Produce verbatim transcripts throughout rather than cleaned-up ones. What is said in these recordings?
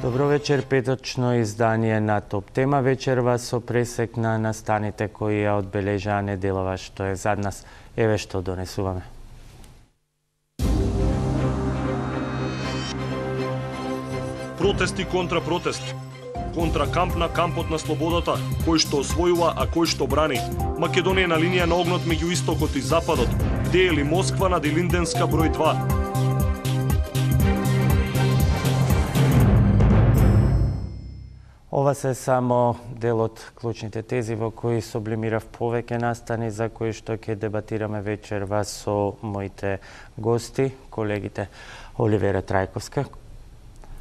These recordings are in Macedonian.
Добро вечер, петочно издание на Топ Тема. Вечерва со пресек на настаните кои ја одбележаа неделава што е зад нас. Еве што донесуваме. Протести контра протест. Контра камп на кампот на слободата, кој што освојува, а кој што брани. Македонија на линија на огнот меѓу истокот и западот. Дели Москва на Делинденска број два. Ова се само дел од клучните тези во кои сублимирав повеќе настани за кои што ќе дебатираме вечерва со моите гости, колегите Оливера Трајковска.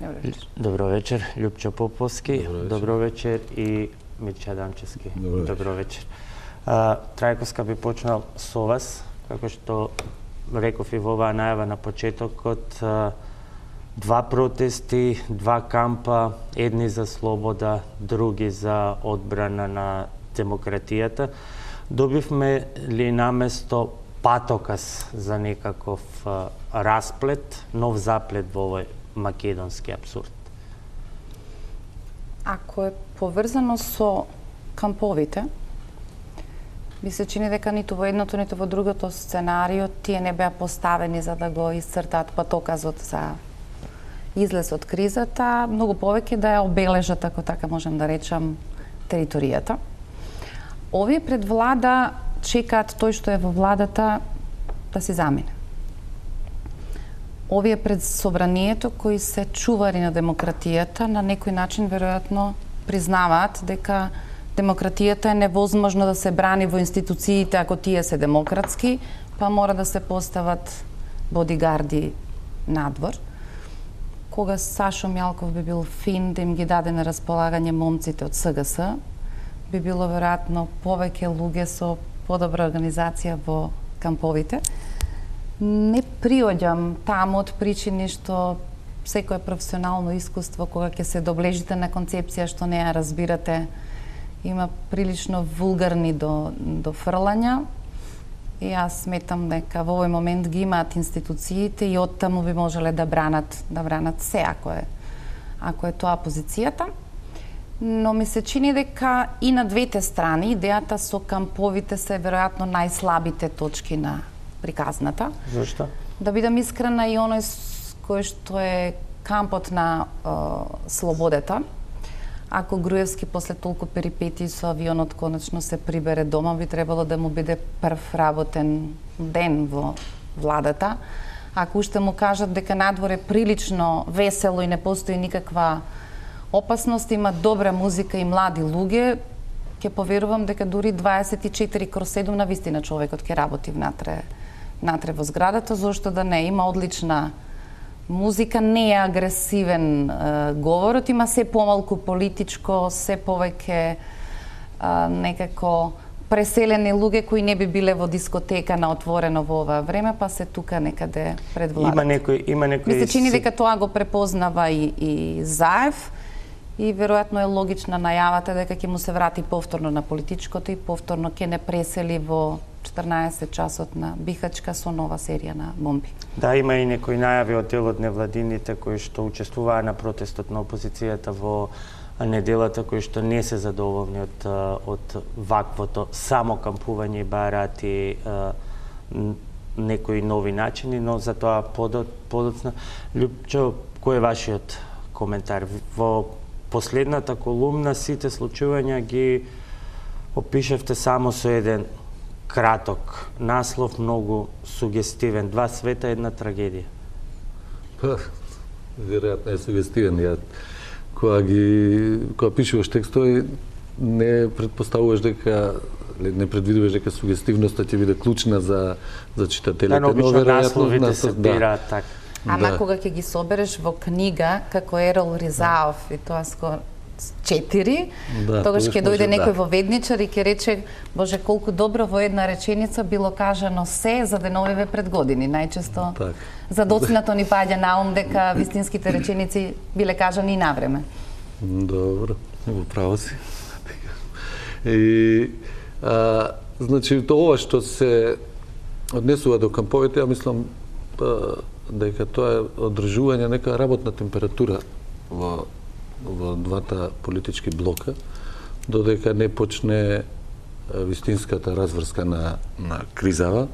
Добро вечер. Добро вечер, Љупчо Поповски. Добро вечер, Добро вечер и Мирча Дамчевски. Добро вечер. Добро вечер. А, Трајковска би почнал со вас, како што реков и во оваа најава на почетокот. А, Два протести, два кампа, едни за слобода, други за одбрана на демократијата. Добивме ли наместо патоказ за некаков а, расплет, нов заплет во овој македонски абсурд? Ако е поврзано со камповите, ми се чини дека ниту во едното, ниту во другото сценарио тие не беа поставени за да го исцртаат патоказот за излез од кризата, многу повеќе да ја обележат, ако така можем да речам, територијата. Овие пред влада чекаат тој што е во владата да се замине. Овие пред собранието кои се чувари на демократијата на некој начин веројатно признаваат дека демократијата е невозможно да се брани во институциите ако тие се демократски, па мора да се постават бодигарди надвор. Кога Сашо Мјалков би бил фин да им ги даде на располагање момците од СГС, би било веројатно повеќе луѓе со подобра организација во камповите. Не приоѓам таму од причини што секое професионално искуство кога ќе се доблежите на концепција што не ја разбирате, има прилично вулгарни до, до фрлања. И јас сметам дека во овој момент ги имаат институциите и оттаму би можеле да бранат, да бранат се ако е, ако е тоа позицијата. Но ми се чини дека и на двете страни идејата со камповите се веројатно најслабите точки на приказната. Зошто? Да бидам искрена, и оној кој што е кампот на е, слободата, ако Груевски после толку перипетии со авионот конечно се прибере дома, би требало да му биде прв работен ден во владата. Ако уште му кажат дека надвор е прилично весело и не постои никаква опасност, има добра музика и млади луѓе, ќе поверувам дека дури дваесет и четири кроз седум на вистина човекот ќе работи внатре, внатре во зградата, зошто да не, има одлична музика, не е агресивен е, говорот, има се помалку политичко, се повеќе е, некако преселени луѓе кои не би биле во дискотека на отворено во ова време, па се тука некаде пред владата. Има некој, има некој... Ми се чини дека тоа го препознава и, и Заев, и веројатно е логична најавата дека ќе му се врати повторно на политичкото и повторно ќе не пресели во четрнаесет часот на Бихачка со нова серија на бомби. Да, има и некои најави од дел од невладините кои што учествуваа на протестот на опозицијата во неделата, кои што не се задоволни од, од ваквото само кампување и бараат и некои нови начини, но за тоа подоцна. Љупчо, кој е вашиот коментар? Во последната колумна сите случувања ги опишевте само со еден краток наслов, многу сугестивен. Два света, една трагедија. Па, веројатно е сугестивен. Ја, кога ги, кога пишуваш текстови, не предпоставуваш дека, не предвидуваш дека сугестивноста ќе биде клучна за за читателите, да, но веројатно насловите нас, се да. бираат така. Ама да. Кога ќе ги собереш во книга, како Ерол Ризаов, и тоа скоро четири, да, тогаш ќе дојде некој да. во ведничар и ќе рече, боже, колку добро во една реченица било кажано се за деновиве пред години. Најчесто так. за доцнато ни паѓа на ум дека вистинските реченици биле кажани и на време. Добро, во право си. И, а, значи, тоа што се однесува до камповите, ја мислам а, дека тоа е одржување нека работна температура во во двата политички блока, додека не почне вистинската разврска на, на кризава.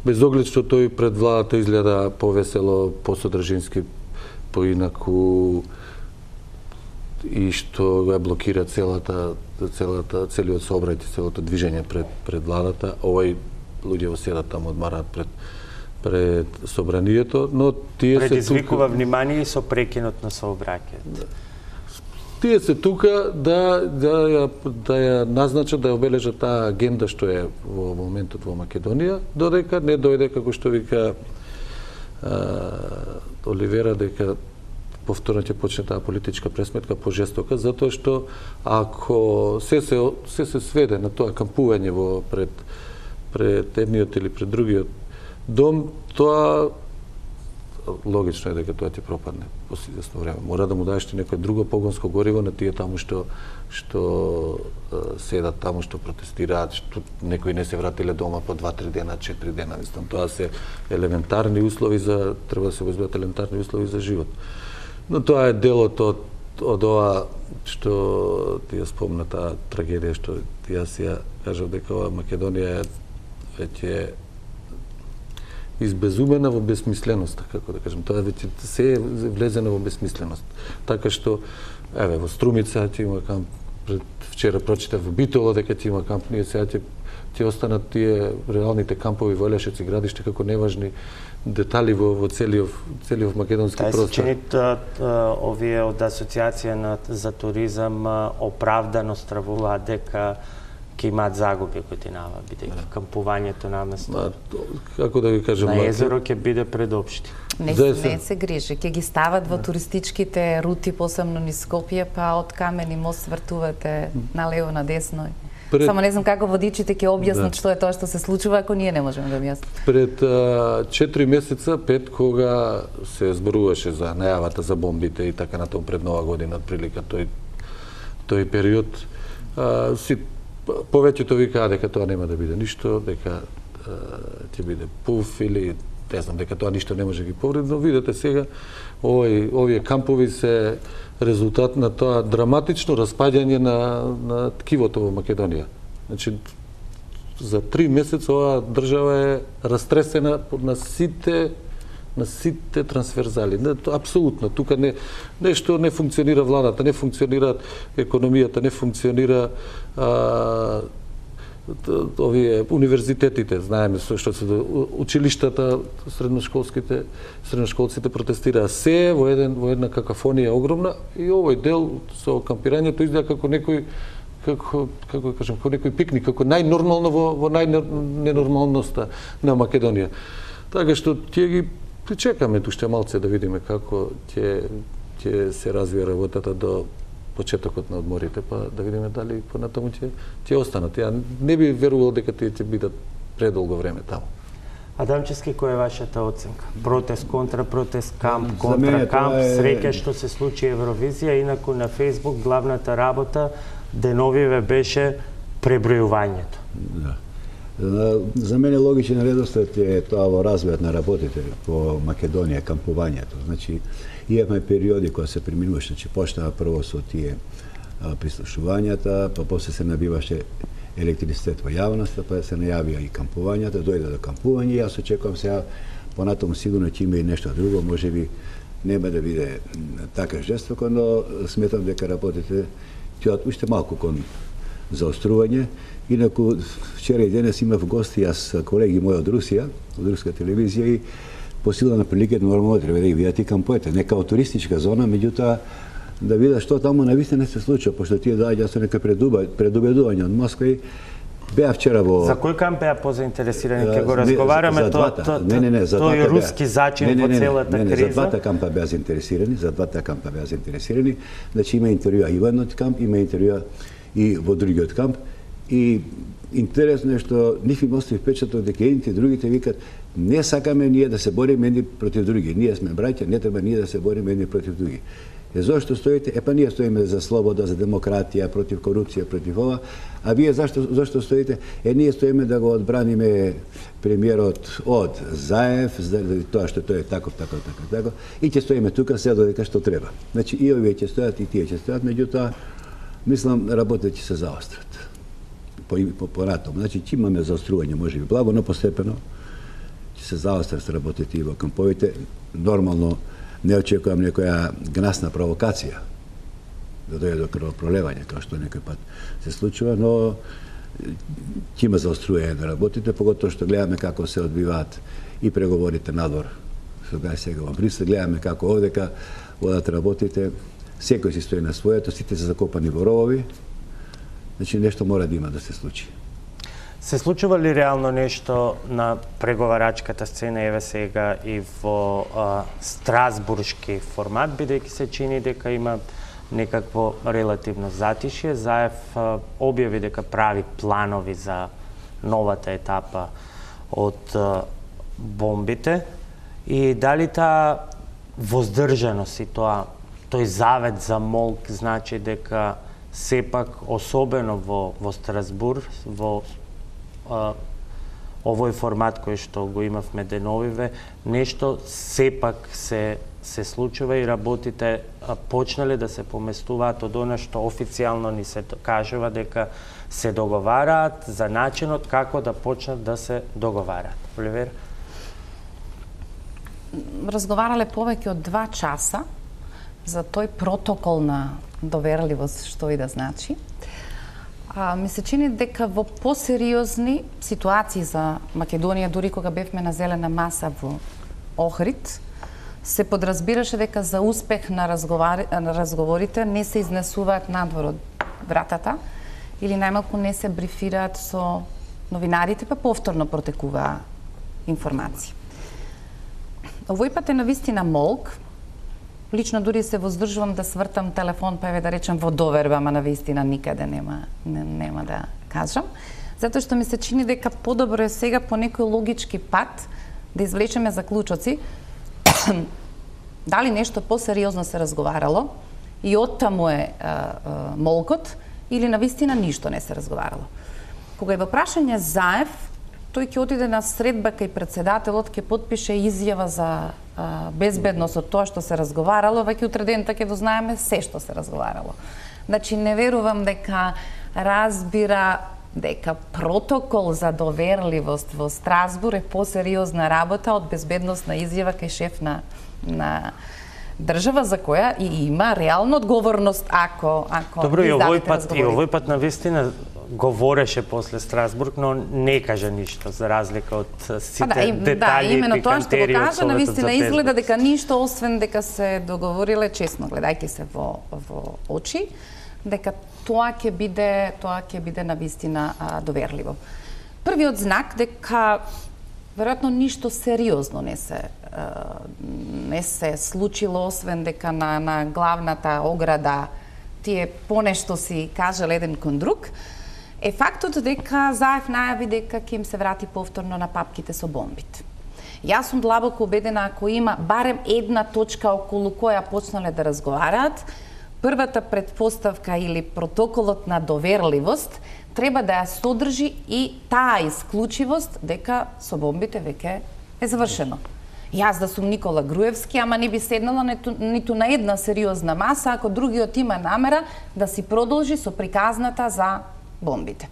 Без оглед што тој пред владата изгледа повесело, посодржински, поинаку и што го блокира целата целата целиот сообраќај, целото движење пред пред владата. Овој луѓе седат таму, одмараат пред пред собранието, но тие се предизвикува внимание и со прекинот на сообраќајот. Тие се тука да да ја да ја назначат, да ја обележат таа агенда што е во моментот во Македонија, додека не дојде, како што вика а, Оливера, дека повторно ќе почне таа политичка пресметка пожестока, затоа што ако се се се се сведе на тоа кампување во пред пред едниот или пред другиот дом, тоа логично е дека тоа ќе пропадне после известно време. Мора да му даеш некој друго погонско гориво на тие таму што што седат таму, што протестираат, што некои не се вратиле дома по два-три дена, четири дена, мислам, тоа се елементарни услови за треба да се обезбедат елементарни услови за живот. Но тоа е делот од од ова што ти ја спомна, таа трагедија што јас ја кажав дека ова Македонија е веќе избезумена во безсмисленост, како да кажем, тоа веќе се е влезено во безсмисленост. Така што, еве, во Струмица ќе има камп, пред вчера прочитав во Битола дека ќе има камп, ние сега ќе ќе останат тие реалните кампови во Елешец и Градиште како неважни детали во, во целиот целиот македонски Тај простор. се чинит овие од Асоциација на, за туризам оправдано стравуваат дека ќе имаат загуби годинава, бидејќи кампувањето на место како да ви кажам, на езеро ќе биде предопшти. Не, не се грижи, ќе ги стават во туристичките рути, посебно низ Скопје, па од Камени мост свртувате налево надесно. Пред... Само не знам како водичите ќе објаснат да. Што е тоа што се случува ако ние не можеме да објасниме. Пред а, четири месеца, пет, кога се зборуваше за најавата за бомбите и така натаму пред Нова година, отприлика тој тој период, а, си повеќето викаа дека тоа нема да биде ништо, дека ќе биде пуф или не знам, дека тоа ништо не може да ги повреди, но видете сега овој овие кампови се резултат на тоа драматично распаѓање на на ткивото во Македонија. Значи за три месеца оваа држава е растресена на сите на сите трансферзали. Не, апсолутно, тука не нешто не функционира владата, не функционира економијата, не функционира а, овие универзитетите, знаеме со што се училиштата, средношколските средношколците протестираа, се во еден во една какафонија огромна и овој дел со кампирањето изгледа како некој како како кажам, како некој пикник, како најнормално во во најненормалноста на Македонија. Така што ќе ги чекаме уште малце да видиме како ќе ќе се развија работата до почетокот на одморите, па да видиме дали понатаму ќе ќе останат. Ја не би верувал дека тие ќе бидат предолго време таму. Адамчевски, која е вашата оценка? Протест, контра протест, камп, контра камп, е... среќа што се случи Евровизија, инаку на Фејсбук главната работа деновиве беше пребројувањето. Да. За мене логичен редослед е тоа во развојот на работите по Македонија, кампувањето. Значи, имаме периоди кога се преминуваше, значи почнаа прво со тие а, прислушувањата, па после се набиваше електрицитет во јавноста, па се најавија и кампувањата, дојде до кампување, јас очекувам сега понатаму сигурно ќе има и нешто друго, можеби нема да биде така жестоко, но сметам дека работите ќе уште малку кон заострување. Инаку, вчера и денес имав гости, јас колеги мои од Русија, од руска телевизија и по сила на приликата нормално треба да ги видат и кампоите, не као туристичка зона, меѓутоа да видат што таму навистина се случува, пошто тие доаѓаат со нека предубедување од Москва и беа вчера во... За кој камп беа позаинтересирани? Ке го разговараме, тоа не, не, не, за тој руски зачин во целата криза? Не, не, за двата кампа беа заинтересирани, за двата кампа беа заинтересирани, значи има интервјуа и во едниот камп, има интервјуа и во другиот камп. И интересно е што нив им остави впечаток дека едните и другите викат не сакаме ние да се бориме едни против други. Ние сме браќа, не треба ние да се бориме едни против други. Е, зошто стоите? Е, па ние стоиме за слобода, за демократија, против корупција, против ова. А вие зашто, зашто стоите? Е, ние стоиме да го одбраниме премиерот од Заев, за тоа што тој е таков, таков, таков, таков. И ќе стоиме тука се додека што треба. Значи, и овие ќе стојат, и тие ќе стојат, меѓутоа, мислам, работите ќе се заострат. По, по, по ратом. Значи, ќе имаме заострување, може би благо, но постепено ќе се заострат работите и во камповите. Нормално, не очекувам некоја гнасна провокација да дојде до крвопролевање, како што некој пат се случува, но ќе има заострување на работите, поготоа што гледаме како се одбиваат и преговорите надвор. Сега сега во Брисел гледаме како овдека водат работите, секој си стои на своето, сите се закопани во ровови. Значи нешто мора да има да се случи. Се случува ли реално нешто на преговарачката сцена, еве сега и во а, страсбуршки формат, бидејќи се чини дека има некакво релативно затишје? Заев а, објави дека прави планови за новата етапа од а, бомбите и дали таа воздржаност и тоа тој завет за молк значи дека сепак, особено во, во Страсбур, во а, овој формат кој што го имавме деновиве, нешто сепак се, се случува и работите а, почнале да се поместуваат од она што официјално ни се кажува дека се договараат за начинот како да почнат да се договараат. Оливер? Разговарале повеќе од два часа за тој протокол на доверливост, што и да значи. А, ми се чини дека во посериозни ситуации за Македонија, дури кога бевме на зелена маса во Охрид, се подразбираше дека за успех на, на разговорите не се изнесуваат надвор од вратата или најмалку не се брифираат со новинарите, па повторно протекуваа информации. Овој пат е навистина молк. Лично дури се воздржувам да свртам телефон, па еве да речем во доверба, ама навистина никаде нема, не, нема да кажам. Затоа што ми се чини дека подобро е сега по некој логички пат да извлечеме заклучоци дали нешто посериозно се разговарало и оттаму е а, а, молкот или навистина ништо не се разговарало. Кога е во прашање Заев, тој ќе отиде на средба кај председателот, ќе потпише изјава за а, безбедност од тоа што се разговарало, веќе утре дента ќе дознаеме се што се разговарало. Значи, не верувам дека разбира дека протокол за доверливост во Страсбур е посериозна работа од безбедносна изјава кај шеф на, на држава за која и има реална одговорност ако ако Добро, и овој пат и овој пат навистина говореше после Страсбург, но не кажа ништо за разлика од сите па да, и, детали да, именно и тоа што го кажа, навистина изгледа безбедност. дека ништо освен дека се договориле честно, гледајќи се во во очи, дека тоа ќе биде тоа ќе биде навистина а, доверливо. Првиот знак дека веројатно ништо сериозно не се а, не се случило, освен дека на на главната ограда тие понешто си кажале еден кон друг, е фактот дека Заев најави дека ќе им се врати повторно на папките со бомбите. Јас сум длабоко убедена ако има барем една точка околу која почнале да разговараат, првата предпоставка или протоколот на доверливост треба да ја содржи и таа исклучивост дека со бомбите веќе е завршено. Јас да сум Никола Груевски, ама не би седнала ниту, ниту на една сериозна маса ако другиот има намера да си продолжи со приказната за бомбите.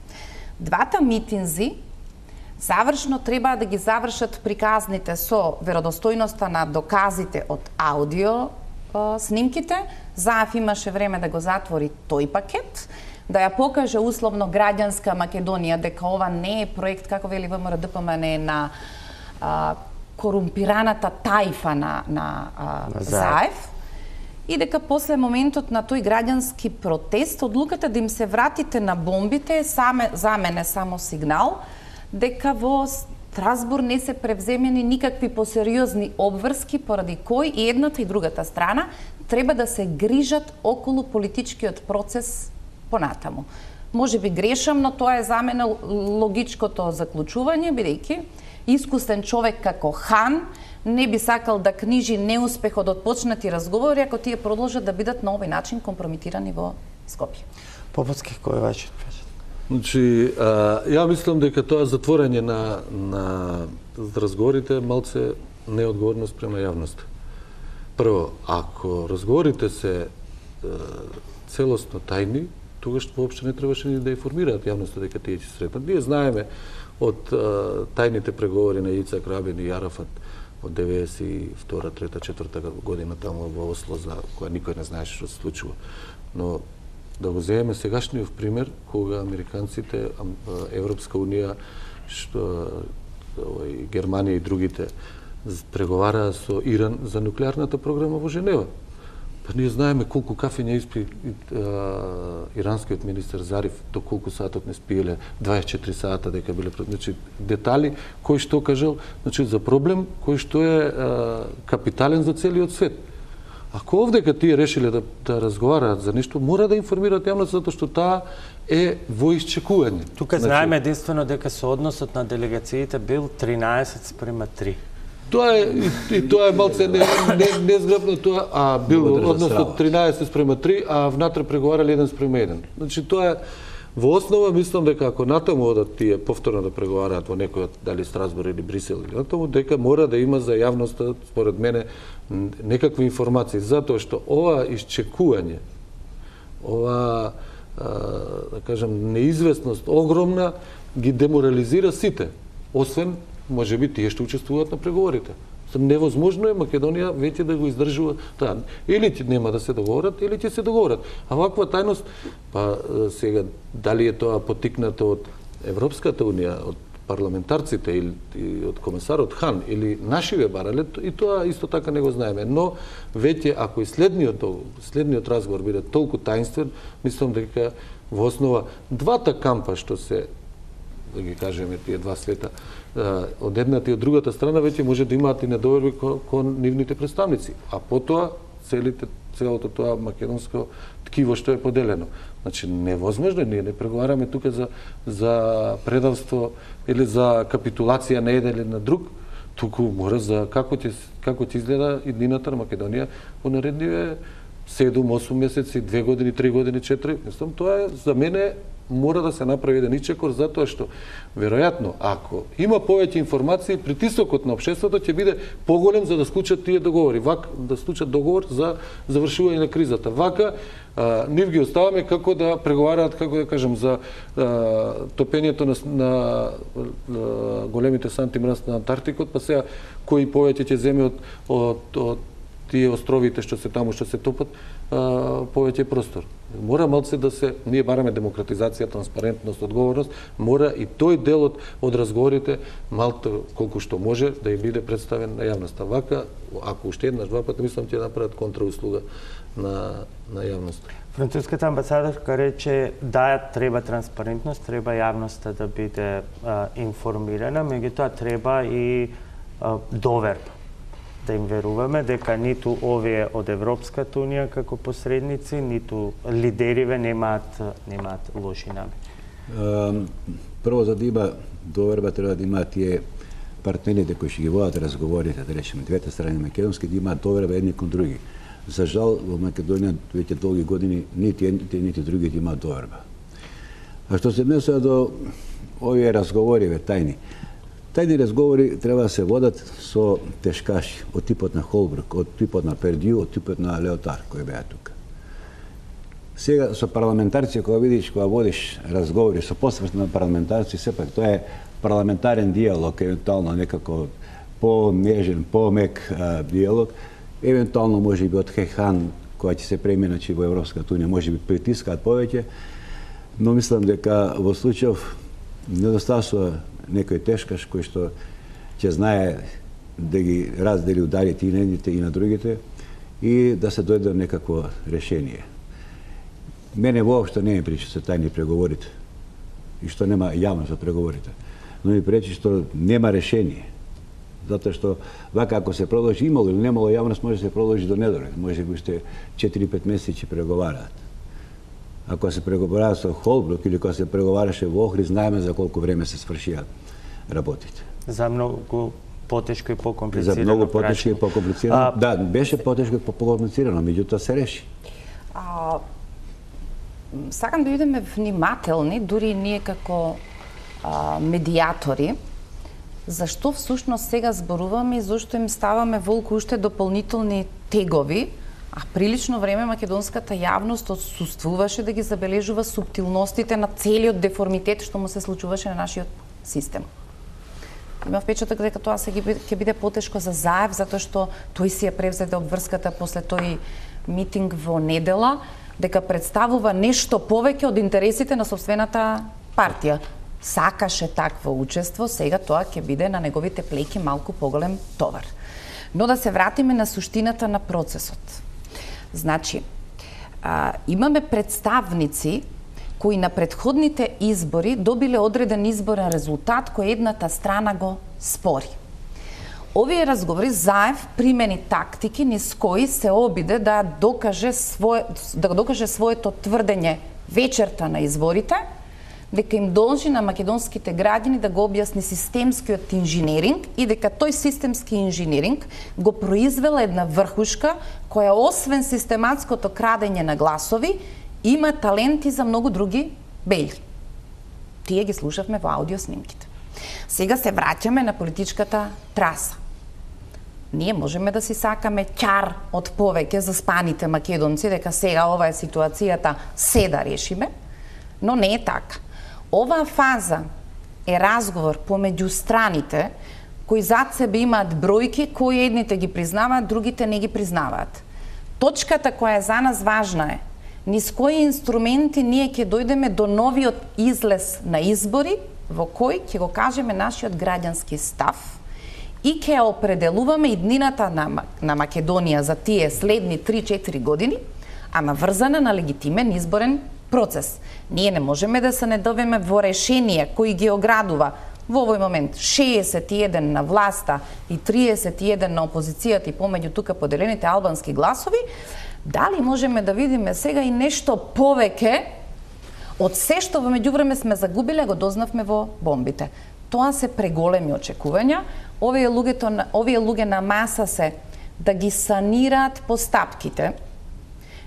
Двата митинзи завршно треба да ги завршат приказните со веродостојноста на доказите од аудио е, снимките. Заев имаше време да го затвори тој пакет, да ја покаже условно граѓанска Македонија дека ова не е проект, како вели ВМРДПМ, не е на а, корумпираната тајфа на, на а, Заев, и дека после моментот на тој граѓански протест, одлуката да им се вратите на бомбите е саме, за мене само сигнал дека во Страсбур не се превземени никакви посериозни обврски поради кој и едната и другата страна треба да се грижат околу политичкиот процес понатаму. Може би грешам, но тоа е за мене логичкото заклучување, бидејќи искусен човек како Хан не би сакал да книжи неуспехот од почнати разговори ако тие продолжат да бидат на овој начин компрометирани во Скопје. Поповски, кој е вашиот прашање? Значи, а, ја мислам дека тоа затворање на, на разговорите малце неодговорност према јавноста. Прво, ако разговорите се е, целосно тајни, тогаш воопшто не требаше ни да информираат јавноста дека тие ќе сретнат. Ние знаеме од е, тајните преговори на Ицак Рабин и Арафат од деветдесет и втора, трета, четврта година таму во Осло, за која никој не знаеше што се случува. Но да го земеме сегашниот пример, кога американците, Европска унија, што, овој, Германија и другите преговараа со Иран за нуклеарната програма во Женева. Па ние знаеме колку кафења испи а, иранскиот министер Зариф, до колку сатот не спиеле, дваесет и четири сата дека биле, значи детали кој што кажал, значи за проблем кој што е а, капитален за целиот свет. Ако овдека тие решиле да, да разговараат за нешто, мора да информираат јавноста затоа што таа е во исчекување. Тука значи, знаеме единствено дека соодносот на делегациите бил тринаесет спрема три. Тоа е и, и тоа е малце не, не, незграбно тоа, а бил односот тринаесет спрема три, а внатре преговарале еден спрема еден. Значи тоа е во основа, мислам дека ако натаму одат тие повторно да преговараат во некој дали Страсбург или Брисел или натаму, дека мора да има за јавноста, според мене, некакви информации, затоа што ова исчекување, ова да кажам неизвестност огромна ги деморализира сите, освен можеби тие што учествуваат на преговорите. Невозможно е Македонија веќе да го издржува тоа. Или ќе нема да се договорат, или ќе се договорат. А ваква тајност, па сега дали е тоа потикнато од Европската унија, од парламентарците или од комесарот Хан или нашиве барале, и тоа исто така не го знаеме. Но веќе ако и следниот следниот разговор биде толку таинствен, мислам дека во основа двата кампа што се, да ги кажеме тие два света, од едната и од другата страна веќе може да имаат и недоверби кон, кон нивните представници, а потоа целите целото тоа македонско ткиво што е поделено. Значи невозможно, ние не преговараме тука за за предавство или за капитулација на еден или на друг, туку мора за како ќе како ќе изгледа иднината на Македонија во наредниве седум осум месеци, две години, три години, четири. Мислам тоа е за мене мора да се направи еден ичекор, затоа што веројатно ако има повеќе информации, притисокот на општеството ќе биде поголем за да склучат тие договори, вака да склучат договор за завршување на кризата. Вака а, нив ги оставаме како да преговараат, како да кажам, за а, топењето на, на, на големите санти мраз на Антарктикот, па сега кој повеќе ќе земе од, од, од тие островите што се таму, што се топат, а, повеќе простор. Мора малце да се, ние бараме демократизација, транспарентност, одговорност, мора и тој делот од разговорите малку колку што може да ја биде представен на јавноста. Вака, ако уште еднаш два пати, мислам ќе направат контрауслуга на на јавноста. Француската амбасадорка рече да треба транспарентност, треба јавноста да биде а, информирана, меѓутоа треба и а, доверба. Да им веруваме дека ниту овие од Европската унија како посредници, ниту лидериве немаат немаат лоши намери. Прво, за да има доверба, треба да имаат тие партнерите кои ќе ги водат разговорите, да речеме, двете страни македонски, да имаат доверба едни кон други. За жал, во Македонија веќе долги години нити едните, нити другите имаат доверба. А што се однесува до овие разговори, ве, тајни, тајни разговори треба да се водат со тешкаши, од типот на Холбрук, од типот на Пердју, од типот на Леотар, кој беа тука. Сега со парламентарци, кога видиш, кога водиш разговори со посврст на парламентарци, сепак тоа е парламентарен диалог, евентуално некако по-нежен, по-мек диалог, евентуално може би од Хехан, која ќе се преминачи во Европската унија, може би притискаат повеќе, но мислам дека во случајов недостасува некој тешкаш кој што ќе знае да ги раздели ударите и на едните и на другите и да се дојде до некакво решение. Мене воопшто не ми пречи со тајни преговорите и што нема јавност за преговорите, но ми пречи што нема решение. Затоа што вака ако се продолжи, имало или немало јавност, може да се продолжи до недолет, може би уште четири-пет месеци преговараат. Ако се преговараа со Холбрук или кога се преговараше во Охрид, знаеме за колку време се свршија работите. За многу потешко и покомплицирано. За многу потешко и покомплицирано. А, да, беше потешко и покомплицирано, меѓутоа се реши. А, сакам да бидеме внимателни, дури ние како а, медиатори, зашто всушност сега зборуваме и зашто им ставаме волку уште дополнителни тегови, а прилично време македонската јавност отсуствуваше да ги забележува суптилностите на целиот деформитет што му се случуваше на нашиот систем. Има впечаток дека тоа се ќе биде потешко за Заев, затоа што тој си ја превзеде обврската после тој митинг во недела, дека представува нешто повеќе од интересите на сопствената партија. Сакаше такво учество, сега тоа ќе биде на неговите плеќи малку поголем товар. Но да се вратиме на суштината на процесот. Значи, а, имаме представници кои на предходните избори добиле одреден изборен резултат кој едната страна го спори. Овие разговори Заев примени тактики низ кои се обиде да докаже свое, да докаже своето тврдење вечерта на изборите, дека им должи на македонските граѓани да го објасни системскиот инженеринг и дека тој системски инженеринг го произвела една врхушка која освен систематското крадење на гласови има таленти за многу други бели. Тие ги слушавме во аудио снимките. Сега се враќаме на политичката траса. Ние можеме да си сакаме ќар од повеќе за спаните македонци, дека сега ова е ситуацијата, се да решиме, но не е така. Оваа фаза е разговор помеѓу страните кои зад себе имаат бројки кои едните ги признаваат, другите не ги признаваат. Точката која е за нас важна е низ кои инструменти ние ќе дојдеме до новиот излез на избори во кој ќе го кажеме нашиот граѓански став и ќе определуваме иднината на, на Македонија за тие следни три-четири години, ама врзана на легитимен изборен процес. Ние не можеме да се недовеме во решение кои ги оградува во овој момент шеесет и еден на власта и триесет и еден на опозицијата и помеѓу тука поделените албански гласови, дали можеме да видиме сега и нешто повеќе од се што во меѓувреме сме загубиле, го дознавме во бомбите. Тоа се преголеми очекувања. Овие луѓето, овие луѓе на маса се да ги санираат постапките,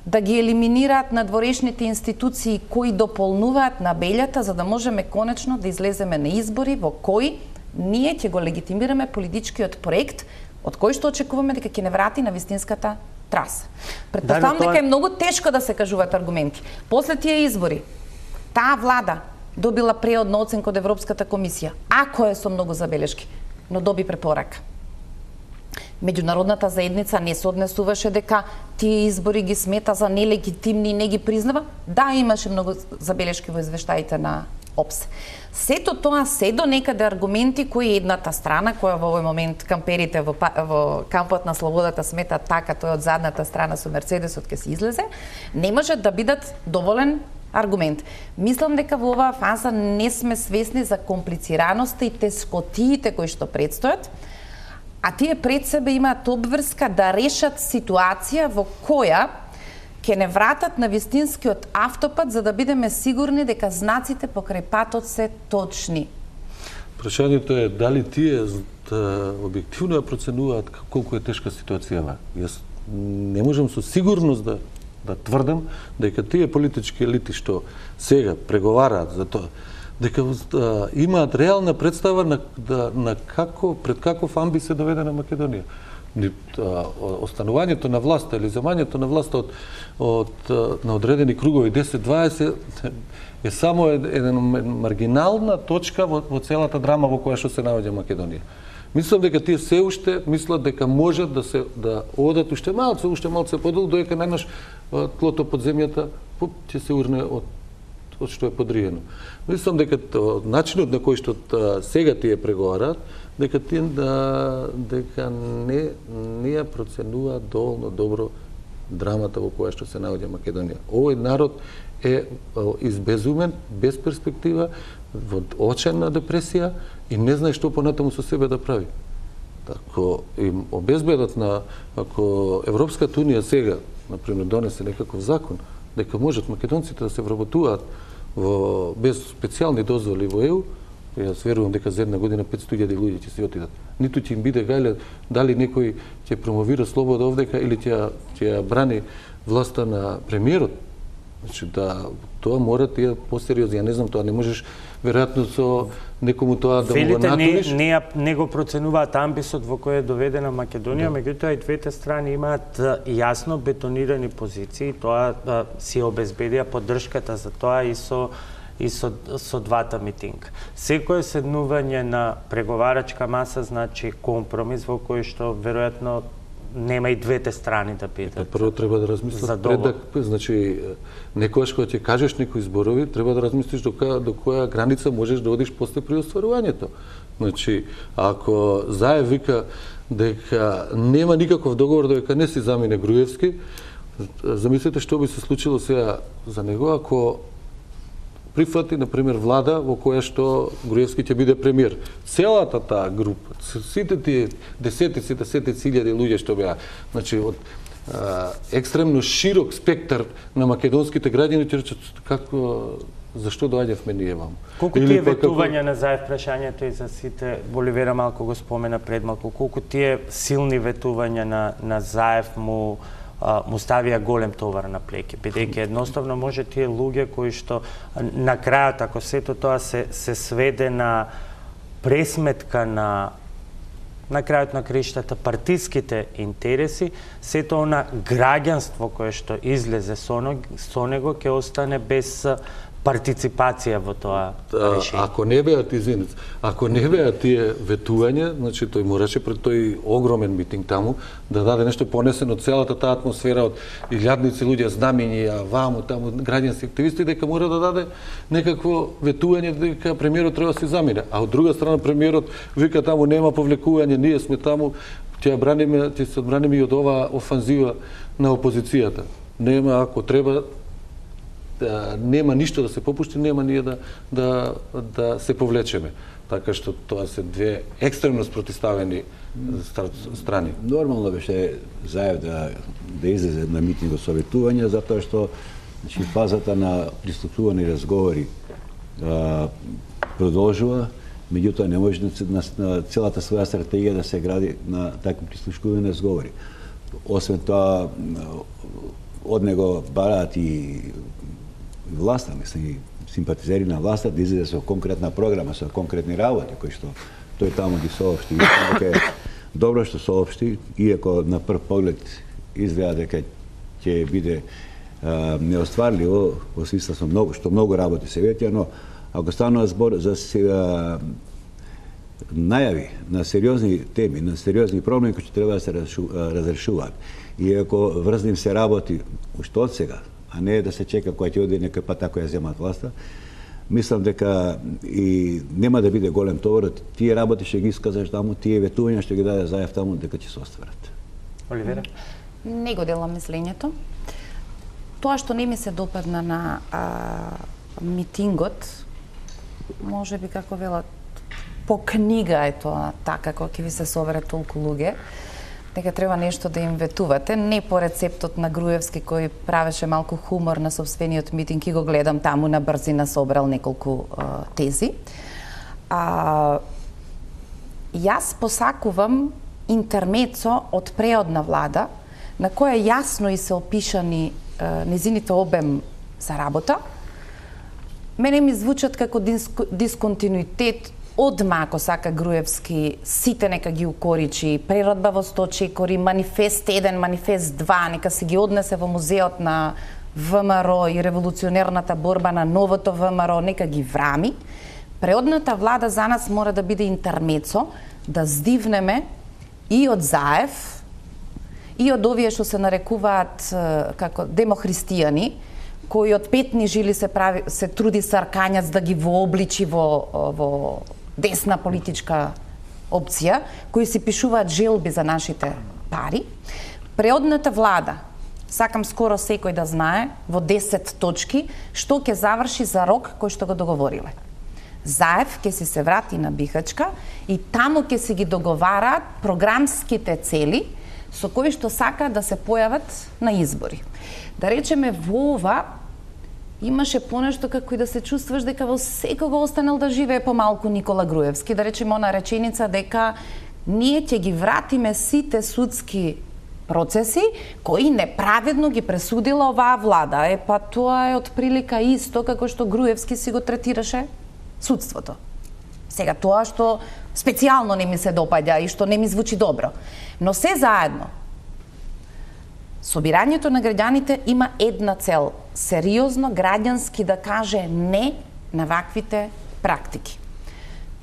да ги елиминираат надворешните институции кои дополнуваат на белјата, за да можеме конечно да излеземе на избори во кои ние ќе го легитимираме политичкиот проект, од кој што очекуваме дека ќе не врати на вистинската траса. Предпоставам да, дека е многу тешко да се кажуваат аргументи. После тие избори, таа влада добила преодна оценка од Европската комисија, ако е со многу забелешки, но доби препорака. Меѓународната заедница не се однесуваше дека тие избори ги смета за нелегитимни и не ги признава. Да, имаше многу забелешки во извештаите на ОПСЕ. Сето тоа се до некаде аргументи кои едната страна, која во овој момент камперите во, во кампот на слободата смета така, тој од задната страна со Мерцедесот ќе се излезе, не може да бидат доволен аргумент. Мислам дека во оваа фаза не сме свесни за комплицираноста и тескотиите кои што предстојат, а тие пред себе имаат обврска да решат ситуација во која ќе не вратат на вистинскиот автопат за да бидеме сигурни дека знаците покрај патот се точни. Прашањето е дали тие да, објективно ја проценуваат колку е тешка ситуацијава. Јас не можам со сигурност да да тврдам дека тие политички елити што сега преговараат за тоа, дека да, имаат реална представа на, да, на како, пред каков амби се доведе на Македонија. Останувањето на власта или земањето на власта од, од, на одредени кругови десет дваесет е само една маргинална точка во, во целата драма во која што се наоѓа Македонија. Мислам дека тие се уште мислат дека можат да се да одат уште малце, уште малце подолу, додека најнаш тлото под земјата ќе се урне од од што е подриено. Мислам дека начинот на кој што сега тие преговараат, дека тие да, дека не не ја проценуваат доволно добро драмата во која што се наоѓа Македонија. Овој народ е избезумен, без перспектива, во очајна депресија и не знае што понатаму со себе да прави. Ако им обезбедат на, ако Европската унија сега, например, донесе некаков закон, дека можат македонците да се вработуваат во без специјални дозволи во ЕУ, Јас верувам дека за една година петстотини илјади луѓе ќе се отидат. Ниту ќе им биде гајле дали некој ќе промовира слобода овдека или ќе ќе брани власта на премиерот. Значи да тоа мора тие посериозно, ја не знам тоа, не можеш веројатно со некому тоа да му го натуриш. Не, не, не го проценуваат амбисот во кој е доведена Македонија, да. Меѓутоа и двете страни имаат јасно бетонирани позиции, тоа да, си обезбедија поддршката за тоа и со и со, со двата митинга. Секое седнување на преговарачка маса значи компромис во кој што веројатно нема и двете страни да бидат. Прво треба да размислат пред да, значи некогаш кога ќе кажеш некои зборови, треба да размислиш до која до која граница можеш да одиш после при остварувањето. Значи, ако Заев вика дека нема никаков договор дека не си замине Груевски, замислете што би се случило сега за него ако прифати, например, влада во која што Груевски ќе биде премиер. Целата таа група, сите тие десетици, десетици илјади луѓе што беа, значи од а, екстремно широк спектар на македонските граѓани ќе речат како зашто доаѓавме ние ваму. Колку тие ветувања на Заев прашањето и за сите, Боливера малку го спомена пред малку, колку тие силни ветувања на на Заев му му ставија голем товар на плеќи, бидејќи едноставно може тие луѓе кои што на крајот, ако сето тоа се, се сведе на пресметка на на крајот на криштата партиските интереси, сето она граѓанство кое што излезе со него ќе остане без партиципација во тоа решение. Ако не беа извинете, ако не беа тие ветувања, значи тој мораше пред тој огромен митинг таму да даде нешто понесено целата таа атмосфера од илјадници луѓе, знамиња, ваму, таму граѓански активисти, дека мора да даде некакво ветување дека премиерот треба да се замине. А од друга страна премиерот вика таму нема повлекување, ние сме таму, ќе браниме, ќе се одбраниме и од оваа офанзива на опозицијата. Нема, ако треба да, нема ништо да се попушти, нема ние да, да, да се повлечеме. Така што тоа се две екстремно спротивставени страни. Нормално беше Заев да, да излезе на митинг со ветување, затоа што значи, фазата на прислушување и разговори а, продолжува, меѓутоа не може на, на, на целата своја стратегија да се гради на такви прислушување и разговори. Освен тоа, од него бараат и власта, мислам, симпатизери на власта да излезе со конкретна програма, со конкретни работи, кои што тој таму ги соопшти. Мислам дека е добро што соопшти, иако на прв поглед изгледа дека ќе биде а, неостварливо, во смисла со многу, што многу работи се ветија, но ако станува збор за сега најави на сериозни теми, на сериозни проблеми кои што треба да се разрешуваат, иако врзним се работи уште од сега, а не да се чека која ќе оди некој пат ако ја земат власта, мислам дека и нема да биде голем товар, тие работи што ги исказаш таму, тие ветувања што ги даде Заев таму, дека ќе се остварат. Оливера? Не го делам мислењето. Тоа што не ми се допадна на а, митингот, може би како велат, по книга е тоа така, кога ќе ви се соберат толку луѓе, дека треба нешто да им ветувате, не по рецептот на Груевски кој правеше малку хумор на собствениот митинг и го гледам таму на брзина собрал неколку а, тези. А, јас посакувам интермецо од преодна влада на која јасно и се опишани а, незините обем за работа. Мене ми звучат како диск, дисконтинуитет. Одма, ако сака Груевски, сите нека ги укоричи, преродба во сто чекори, манифест еден, манифест два, нека се ги однесе во музеот на ВМРО и револуционерната борба на новото ВМРО, нека ги врами. Преодната влада за нас мора да биде интермецо, да здивнеме и од Заев, и од овие што се нарекуваат како демохристијани, кои од петни жили се прави се труди Саркањац да ги вообличи во во десна политичка опција, кои си пишуваат желби за нашите пари. Преодната влада, сакам скоро секој да знае, во десет точки, што ќе заврши за рок кој што го договориле. Заев ќе си се врати на Бихачка и таму ќе си ги договараат програмските цели со кои што сака да се појават на избори. Да речеме, во ова имаше понешто како и да се чувствуваш дека во секого останал да живее помалку Никола Груевски, да речеме она реченица дека ние ќе ги вратиме сите судски процеси кои неправедно ги пресудила оваа влада. Е, па тоа е отприлика исто како што Груевски си го третираше судството. Сега тоа што специјално не ми се допаѓа и што не ми звучи добро. Но се заедно, собирањето на граѓаните има една цел. Сериозно, граѓански да каже не на ваквите практики.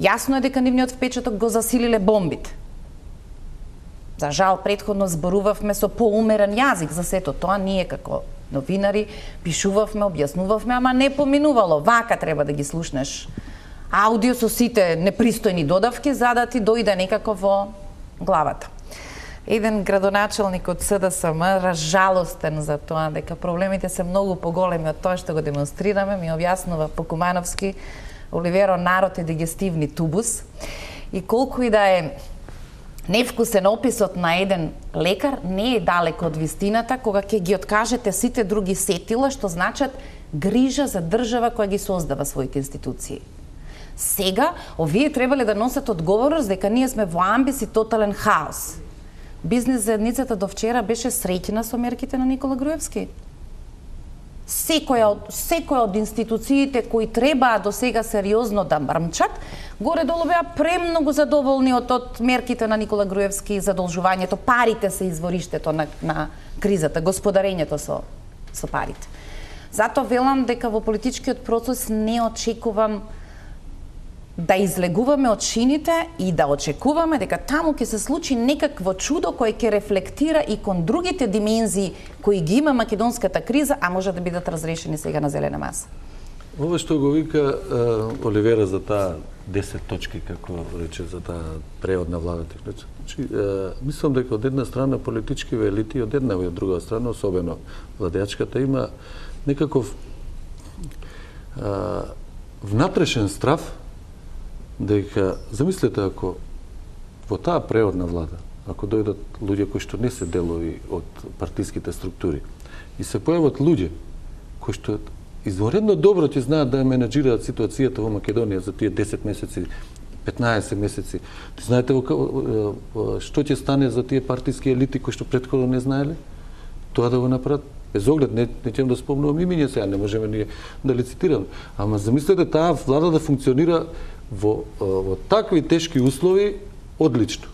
Јасно е дека нивниот впечаток го засилиле бомбите. За жал, предходно зборувавме со поумерен јазик за сето тоа, ние како новинари пишувавме, објаснувавме, ама не поминувало. Вака треба да ги слушнеш аудио со сите непристојни додавки, за да ти дојде некако во главата. Еден градоначалник од С Д С М, разжалостен за тоа дека проблемите се многу поголеми од тоа што го демонстрираме, ми објаснува по кумановски: Оливеро, народ е дигестивни тубус, и колку и да е невкусен описот на еден лекар, не е далеко од вистината кога ќе ги откажете сите други сетила што значат грижа за држава која ги создава своите институции. Сега, овие требале да носат одговорност дека ние сме во амбис и тотален хаос. Бизнес заедницата до вчера беше среќна со мерките на Никола Груевски. Секоја од, секоја од институциите кои требаа до сега сериозно да мрмчат, горе-долу беа премногу задоволни од, од мерките на Никола Груевски и задолжувањето. Парите се извориштето на, на кризата, господарењето со, со парите. Затоа велам дека во политичкиот процес не очекувам да излегуваме од шините и да очекуваме дека таму ќе се случи некакво чудо кое ќе рефлектира и кон другите димензии кои ги има македонската криза, а може да бидат разрешени сега на зелена маса. Ова што го вика uh, Оливера за таа десет точки, како рече, за таа превод на владата. Значи, uh, мислам дека од една страна политички елити, од една и од друга страна, особено владеачката, има некаков uh, внатрешен страв дека, замислете, ако во таа преводна влада, ако дојдат луѓе кои што не се делови од партиските структури и се појават луѓе кои што изворедно добро ќе знаат да ја менеджираат ситуацијата во Македонија за тие десет месеци, петнаесет месеци, знаете што ќе стане за тие партиски елити кои што претходно не знаеле? Тоа да го направат без оглед, не, не ќе да спомнувам имиња сега, не можеме ние да лицитираме. Ама замислете таа влада да функционира во, во такви тешки услови одлично,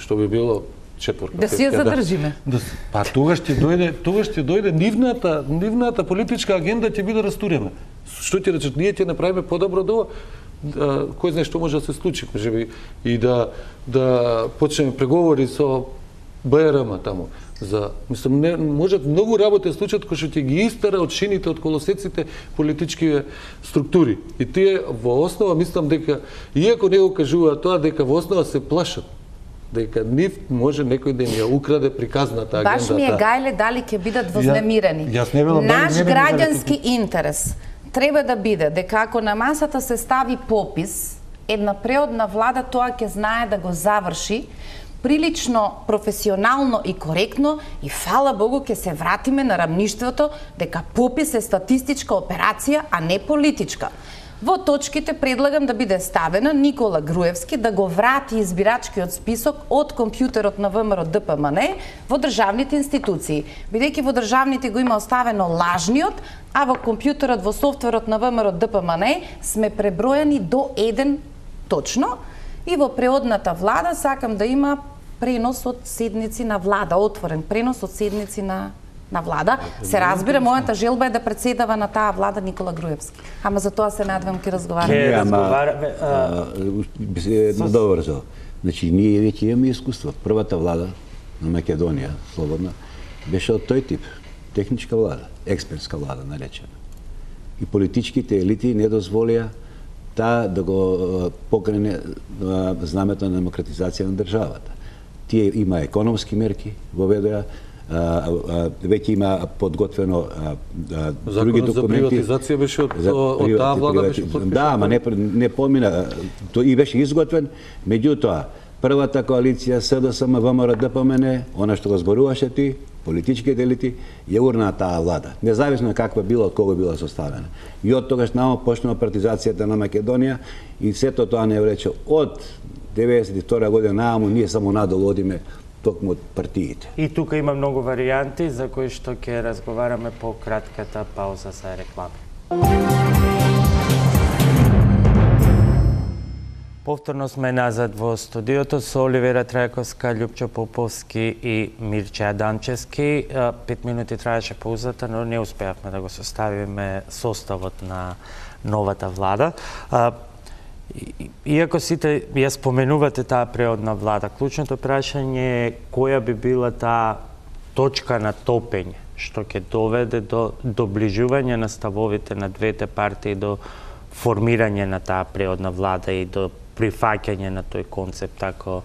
што би било четвртка. Да си ја задржиме. Да, па тогаш ќе дојде, тогаш ќе дојде нивната, нивната политичка агенда ќе биде растурена. Што ќе речат, ние ќе направиме подобро до кој знае што може да се случи, можеби и да да почнеме преговори со Б Р М таму. За, мислам, не, можат многу работи случат кои што ќе ги истера од шините, од колосеците политички структури. И тие во основа, мислам дека, иако не го кажува тоа, дека во основа се плашат, дека нив може некој да им ја украде приказната агендата. Баш ми е гајле дали ќе бидат вознемирени. Ја, ја Наш граѓански интерес треба да биде дека ако на масата се стави попис, една преодна влада тоа ќе знае да го заврши прилично професионално и коректно, и фала Богу ќе се вратиме на рамништвото дека попис е статистичка операција, а не политичка. Во точките предлагам да биде ставена Никола Груевски да го врати избирачкиот список од компјутерот на ВМРО Д П М Н во државните институции, бидејќи во државните го има оставено лажниот, а во компјутерот, во софтверот на ВМРО Д П М Н сме пребројани до еден точно, и во преодната влада сакам да има пренос од седници на влада, отворен пренос од седници на на влада. Се разбира, мојата желба е да председава на таа влада Никола Груевски. Ама за тоа се надевам ќе разговараме. Ке разговараме. Би се надоврзал. Значи, ние веќе имаме искуство. Првата влада на Македонија, слободна, беше од тој тип. Техничка влада, експертска влада, наречена. И политичките елити не дозволија таа да го покрене знамето на демократизација на државата. Тие има економски мерки, воведоа, веќе има подготвено други документи. Законот за приватизација беше од, од таа влада беше подпишан. Да, ама не, не помина, то и беше изготвен, меѓутоа, првата коалиција С Д С М В М Р Д П М Н, она што го зборуваше ти, политичките елити, ја урна таа влада, независно каква била, од кого била составена. И од тогаш намо почнува партизацијата на Македонија и сето тоа не рече од деветдесет и втора година нааму ние само надолу одиме токму од партиите. И тука има многу варијанти за кои што ќе разговараме по кратката пауза за реклами. Повторно сме назад во студиото со Оливера Трајковска, Љупчо Поповски и Мирче Адамчевски. Пет минути траеше паузата, но не успеавме да го составиме составот на новата влада. Иако сите ја споменувате таа преодна влада, клучното прашање е која би била таа точка на топење што ќе доведе до доближување на ставовите на двете партии, до формирање на таа преодна влада и до прифаќање на тој концепт, ако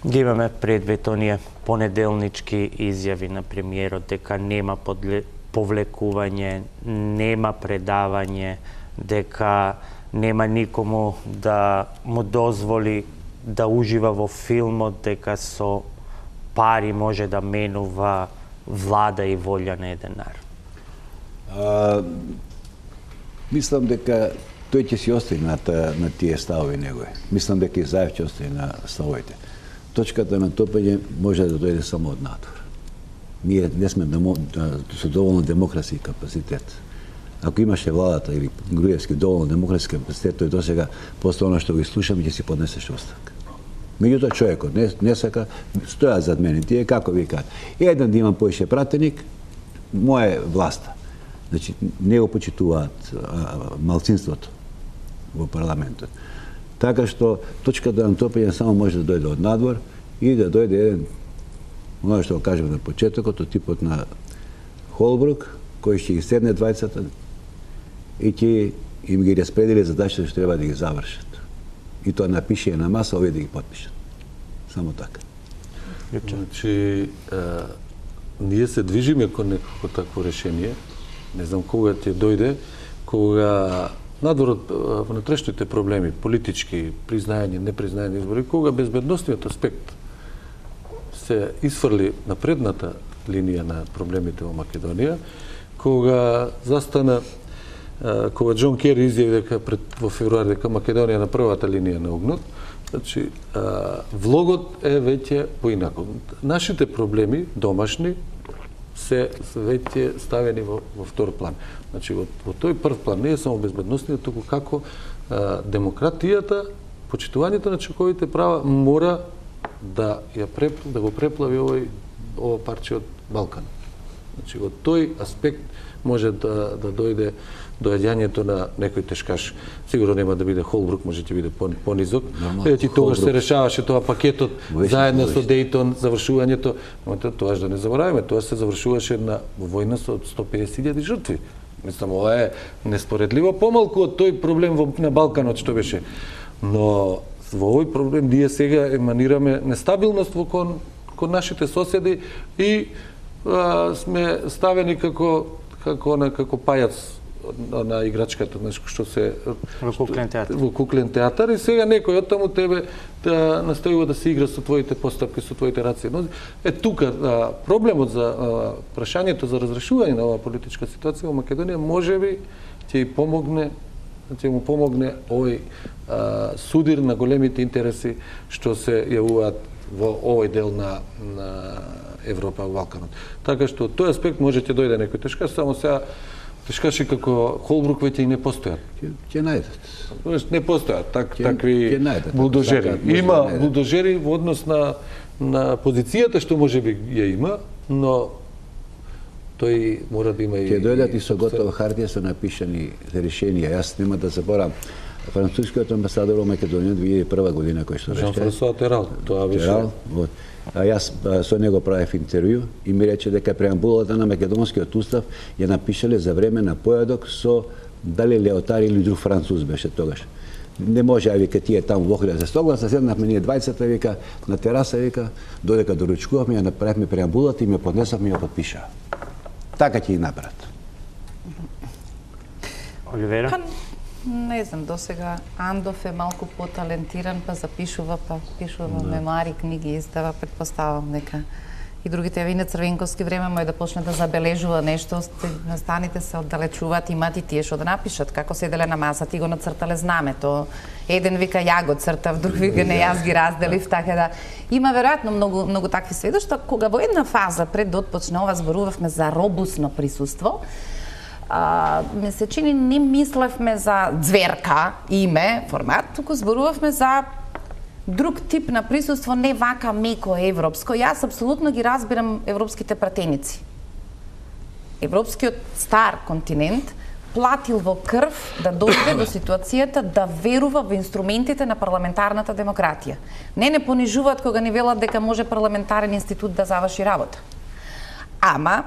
ги имаме предвид оние понеделнички изјави на премиерот дека нема подле... повлекување, нема предавање, дека нема никому да му дозволи да ужива во филмот, дека со пари може да менува влада и волја на еден народ. А, мислам дека тој ќе си остави на, та, на тие ставови негови. Мислам дека и Заев ќе остави на ставовите. Точката на топење може да дојде само од надвор. Ние не сме демо, со доволно демократски капацитет. Ако имаше владата или Груевски доволно демократски капацитет, тој досега после она што го слушаме ќе си поднесеше оставка. Меѓутоа човекот не, не сака, стоја зад мене. Тие како викаат, еден да имам поише пратеник, моја власта. Значи, не го почитуваат малцинството во парламентот. Така што точката на топење само може да дојде од надвор и да дојде еден, оно што го кажем на почетокот, од типот на Холбрук, кој ќе ги седне двајцата и ќе им ги распредели задачите што треба да ги завршат. И тоа напише на маса, овие да ги подпишат. Само така. Значи, ние се движиме кон некако такво решение. Не знам кога ќе дојде, кога надвор од внатрешните проблеми, политички, признајање, непризнајање избори, кога безбедностниот аспект се исфрли на предната линија на проблемите во Македонија, кога застана, кога Џон Кери изјави дека пред, во февруари дека Македонија на првата линија на огнот, значи, влогот е веќе поинако. Нашите проблеми, домашни, се веќе ставени во, во втор план. Значи, во, во тој прв план не е само безбедностниот, туку како а, демократијата, почитувањето на човековите права мора да ја преп, да го преплави овој ова парче од Балкан. Значи, во тој аспект може да, да дојде доаѓањето на некој тешкаш. Сигурно нема да биде Холбрук, може ќе биде понизок. Ети тогаш се решаваше тоа пакетот заедно со Дејтон, завршувањето. Но тоа да не забораваме, тоа се завршуваше на војна со сто педесет илјади жртви. Мислам, ова е неспоредливо помалку од тој проблем во, на Балканот што беше. Но во овој проблем ние сега еманираме нестабилност во кон, кон нашите соседи и а, сме ставени како како на како пајац на играчката, нешто што се во куклен театар. Во куклен театар и сега некој од таму тебе да настојува да се игра со твоите постапки, со твоите раци. Но е тука а, проблемот за а, прашањето за разрешување на оваа политичка ситуација во Македонија можеби ќе и помогне, ќе му помогне овој а, судир на големите интереси што се јавуваат во овој дел на на Европа, во Балканот. Така што од тој аспект може ќе дојде некој тешкаш, само сега тешкаши како Холбрук веќе и не постојат. Ќе најдат. Не постојат так, Ке, такви ке најдат, булдожери. Така, има да булдожери во однос на на позицијата што можеби ја има, но тој мора да има и... Ќе дојдат и со готова хартија со напишани решенија. Јас нема да заборам францускиот амбасадор во Македонија две илјади и прва година кој што рече. Жан-Франсуа Терал, тоа беше. Терал, вот. А јас со него правев интервју и ми рече дека преамбулата на македонскиот устав ја напишале за време на појадок со дали Леотар или друг француз беше тогаш. Не може, а вика, тие таму во Охрид да се согласа, седнавме ние двајцата, вика, на тераса, вика, додека доручкувавме, ја направивме преамбулата и ме поднесавме и ја подпишаа. Така ќе ги направат. Оливера? Па, Не знам, досега Андов е малку поталентиран, па запишува, па пишува мемуари, книги, издава, предпоставам нека и другите вине Црвенковски време му е да почне да забележува нешто, настаните се оддалечуваат, имат и тие што да напишат, како седеле на масата и го нацртале знамето. Еден вика ја го цртав, друг вика не, јас ги разделив, така да има веројатно многу многу такви сведоштва. Кога во една фаза пред да отпочне ова зборувавме за робусно присуство, а, ме се чини не мислевме за ѕверка, име, формат, туку зборувавме за друг тип на присуство, не вака меко европско. Јас апсолутно ги разбирам европските пратеници. Европскиот стар континент платил во крв да дојде до ситуацијата да верува во инструментите на парламентарната демократија. Не не понижуваат кога ни велат дека може парламентарен институт да заврши работа. Ама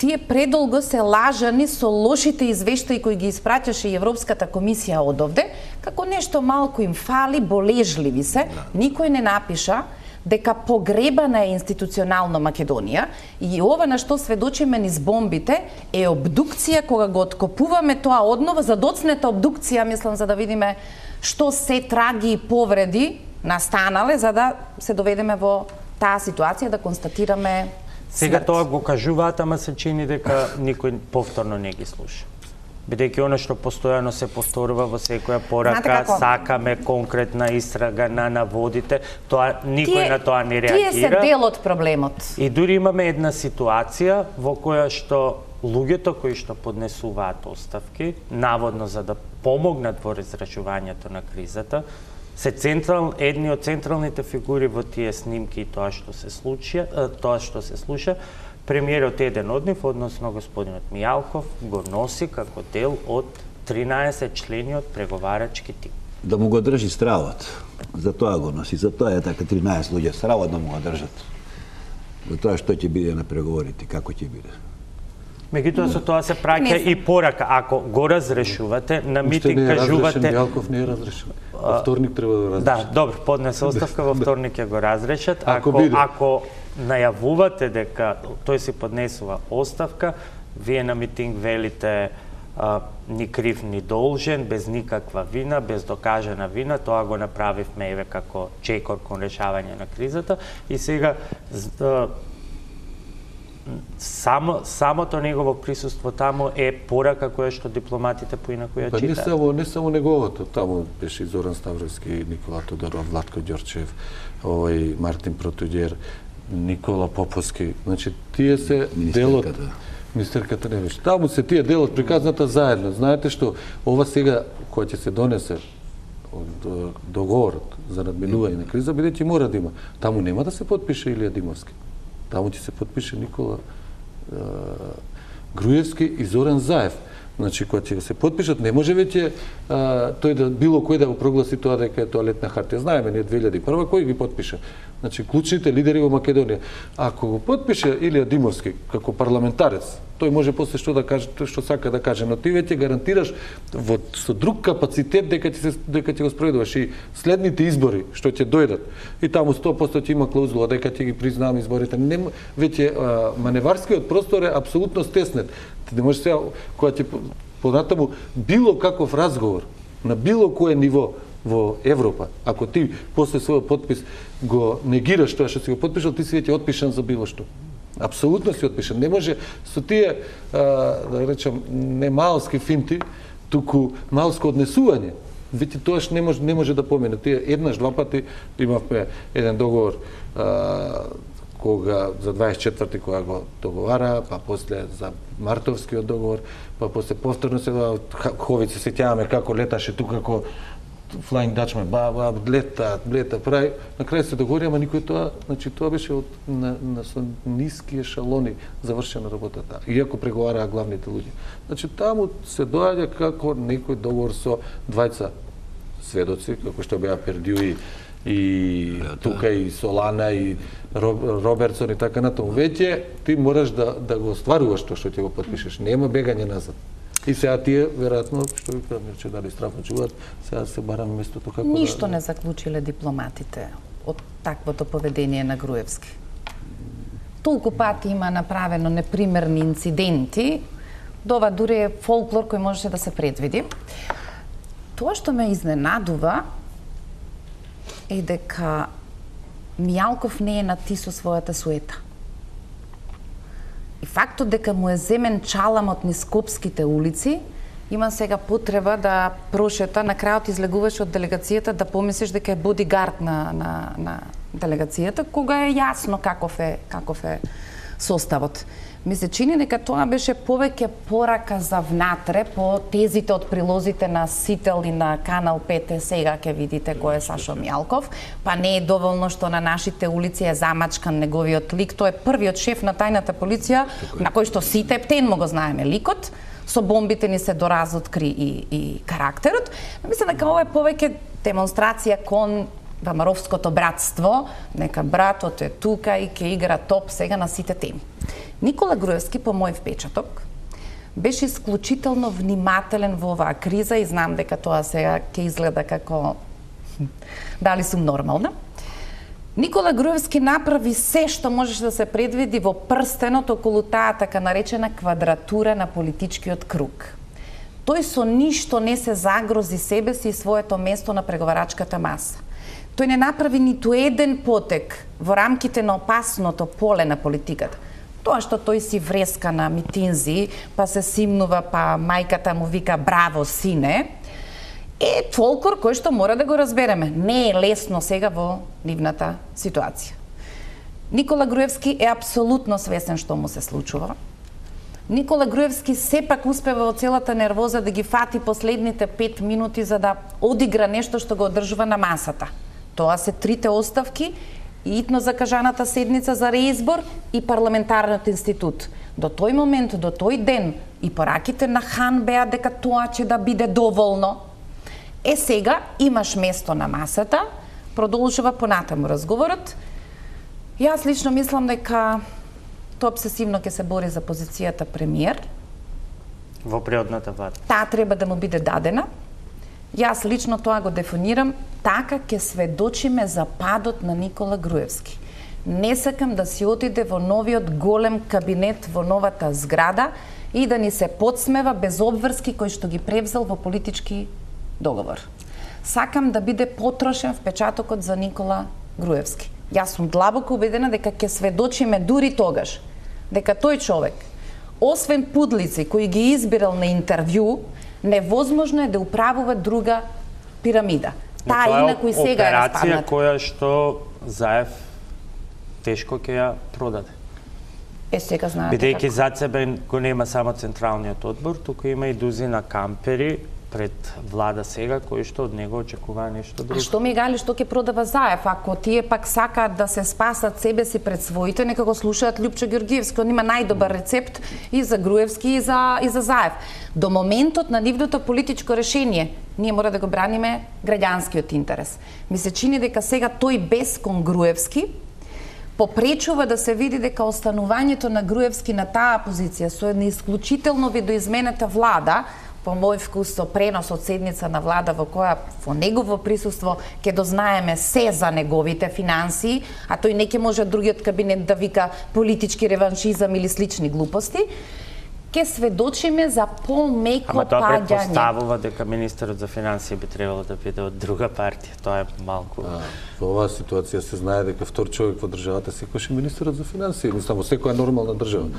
тие предолго се лажани со лошите извештаи кои ги испраќаше и Европската комисија одовде, како нешто малку им фали, болежливи се, никој не напиша дека погребана е институционално Македонија и ова на што сведочиме низ бомбите е обдукција кога го откопуваме тоа однова, задоцнета обдукција, мислам, за да видиме што се траги и повреди настанале, за да се доведеме во таа ситуација да констатираме Сега смрт. тоа го кажуваат, ама се чини дека никој повторно не ги слуша. Бидејќи оно што постојано се повторува во секоја порака, сакаме конкретна истрага на наводите, тоа никој тие, на тоа не реагира. Тие се дел од проблемот. И дури имаме една ситуација во која што луѓето кои што поднесуваат оставки, наводно за да помогнат во разрешувањето на кризата, се централ едни од централните фигури во тие снимки и тоа што се случи, тоа што се слуша, премиерот еден од нив, односно господинот Мијалков, го носи како дел од тринаесет члени од преговарачки тим. Да му го држи стравот. За тоа го носи, за тоа е така тринаесет луѓе стравот да му го држат. За тоа што ќе биде на преговорите, како ќе биде. Меѓутоа со тоа се праќа и порака. Ако го разрешувате, на митинг кажувате... Мијалков не е разрешен. Во вторник треба да разрешат. Да, добро, поднесе оставка, во вторник ќе го разрешат. Ако, ако, биде. ако најавувате дека тој си поднесува оставка, вие на митинг велите а, ни крив ни должен, без никаква вина, без докажана вина, тоа го направивме еве како чекор кон решавање на кризата и сега а, само самото негово присуство таму е порака која што дипломатите поинаку ја Па не читаат. само не само неговото, таму беше и Зоран Ставровски, Никола Тодоров, Владко Ѓорчев, овој Мартин Протуѓер, Никола Поповски. Значи тие се делот министерката не беше. Таму се тие делот приказната заедно. Знаете што ова сега која ќе се донесе од договорот за надминување на криза, бидејќи мора да има. Таму нема да се потпише Илија Димовски. Таму ќе се потпише Никола е, Груевски и Зоран Заев. Значи, кога ќе се потпишат, не може веќе тој да било кој да го прогласи тоа дека е тоалетна хартија. Знаеме, ние две илјади и прва кој ги потпиша. Значи, клучните лидери во Македонија. Ако го потпише Илија Димовски како парламентарец, тој може после што да каже, што сака да каже, но ти веќе гарантираш во со друг капацитет дека ќе се дека ќе го спроведуваш и следните избори што ќе дојдат. И таму сто проценти ќе има клаузула дека ќе ги признаваме изборите. Не веќе а, маневарскиот простор е апсолутно стеснет. Ти не можеш сега кога ќе понатаму било каков разговор на било кое ниво во Европа, ако ти после својот потпис го негираш тоа што си го потпишал, ти си веќе отпишан за било што. Апсолутно си отпишан. Не може со тие, а, да речам, не малски финти, туку малско однесување. Веќе тоаш не може не може да помине. Тие еднаш два пати имавме еден договор а, кога за дваесет и четврти кога го договара, па после за мартовскиот договор, па после повторно се Ховици се сеќаваме како леташе тука како Flying Dutchman, ба, ба, лета, лета, прави, на крај се договори, ама никој тоа, значи тоа беше од на, на со ниски ешалони завршена работата, иако преговараа главните луѓе. Значи таму се доаѓа како некој договор со двајца сведоци, како што беа Пердју и, и тука и Солана и Робертсон и така натаму. Веќе ти мораш да да го остваруваш тоа што ќе го потпишеш. Нема бегање назад. И сега тие, веројатно, што ви кажам, че дали страфно чуваат, сега се бараме местото како Ништо да... не заклучиле дипломатите од таквото поведение на Груевски. Толку пати има направено непримерни инциденти, дова дури е фолклор кој можеше да се предвиди. тоа што ме изненадува е дека Мијалков не е на ти со својата суета. И фактот дека му е земен чаламот низ Скопските улици, има сега потреба да прошета, на крајот излегуваш од делегацијата да помислиш дека е бодигард на, на, на делегацијата, кога е јасно каков е, каков е составот. Ми се чини дека тоа беше повеќе порака за внатре по тезите од прилозите на Сител и на Канал пет. Сега ќе видите кој е Сашо Мијалков, па не е доволно што на нашите улици е замачкан неговиот лик. Тој е првиот шеф на тајната полиција, на кој што сите ептен му го знаеме ликот. Со бомбите ни се доразоткри и, и карактерот. Мислам дека ова е повеќе демонстрација кон Вамаровското братство, нека братот е тука и ќе игра топ сега на сите теми. Никола Груевски, по мој впечаток, беше исклучително внимателен во оваа криза и знам дека тоа сега ќе изгледа како дали сум нормална. Никола Груевски направи се што можеше да се предвиди во прстенот околу таа така наречена квадратура на политичкиот круг. Тој со ништо не се загрози себе си и своето место на преговарачката маса. Тој не направи ниту еден потек во рамките на опасното поле на политиката. Тоа што тој си вреска на митинзи, па се симнува, па мајката му вика браво сине, е фолклор кој што мора да го разбереме. Не е лесно сега во нивната ситуација. Никола Груевски е апсолутно свесен што му се случува. Никола Груевски сепак успева во целата нервоза да ги фати последните пет минути за да одигра нешто што го одржува на масата. Тоа се трите оставки, итно закажаната седница за реизбор и парламентарниот институт. До тој момент, до тој ден, и пораките на Хан беа дека тоа ќе да биде доволно. Е сега имаш место на масата, продолжува понатаму разговорот. Јас лично мислам дека тоа обсесивно ќе се бори за позицијата премиер. Во преодната влада. Таа треба да му биде дадена. Јас лично тоа го дефинирам, така ќе сведочиме за падот на Никола Груевски. Не сакам да си отиде во новиот голем кабинет во новата зграда и да ни се подсмева без обврски кои што ги превзел во политички договор. Сакам да биде потрошен впечатокот за Никола Груевски. Јас сум длабоко убедена дека ќе сведочиме дури тогаш дека тој човек, освен пудлици кои ги избирал на интервју, невозможно е да управува друга пирамида. Таа инаку и сега е распадната. Операција која што Заев тешко ќе ја продаде. Е, сега знаете бидејќи зад себе го нема само Централниот одбор, туку има и дузина кампери пред влада сега, кои што од него очекува нешто друго. А што ми гали што ќе продава Заев? Ако тие пак сакаат да се спасат себе си пред своите, нека го слушаат Љупчо Ѓорѓиевски, он има најдобар рецепт и за Груевски и за и за Заев. До моментот на нивното политичко решение, ние мора да го браниме граѓанскиот интерес. Ми се чини дека сега тој без кон Груевски попречува да се види дека останувањето на Груевски на таа позиција со една исклучително видоизменета влада, по мој вкус со пренос од седница на влада во која во негово присуство ќе дознаеме се за неговите финансии, а тој не ќе може другиот кабинет да вика политички реваншизам или слични глупости, ќе сведочиме за помеко паѓање. Ама тоа предпоставува дека министерот за финансии би требало да биде од друга партија. Тоа е малку. А, во оваа ситуација се знае дека втор човек во државата секогаш е министерот за финансии, мислам во секоја нормална држава.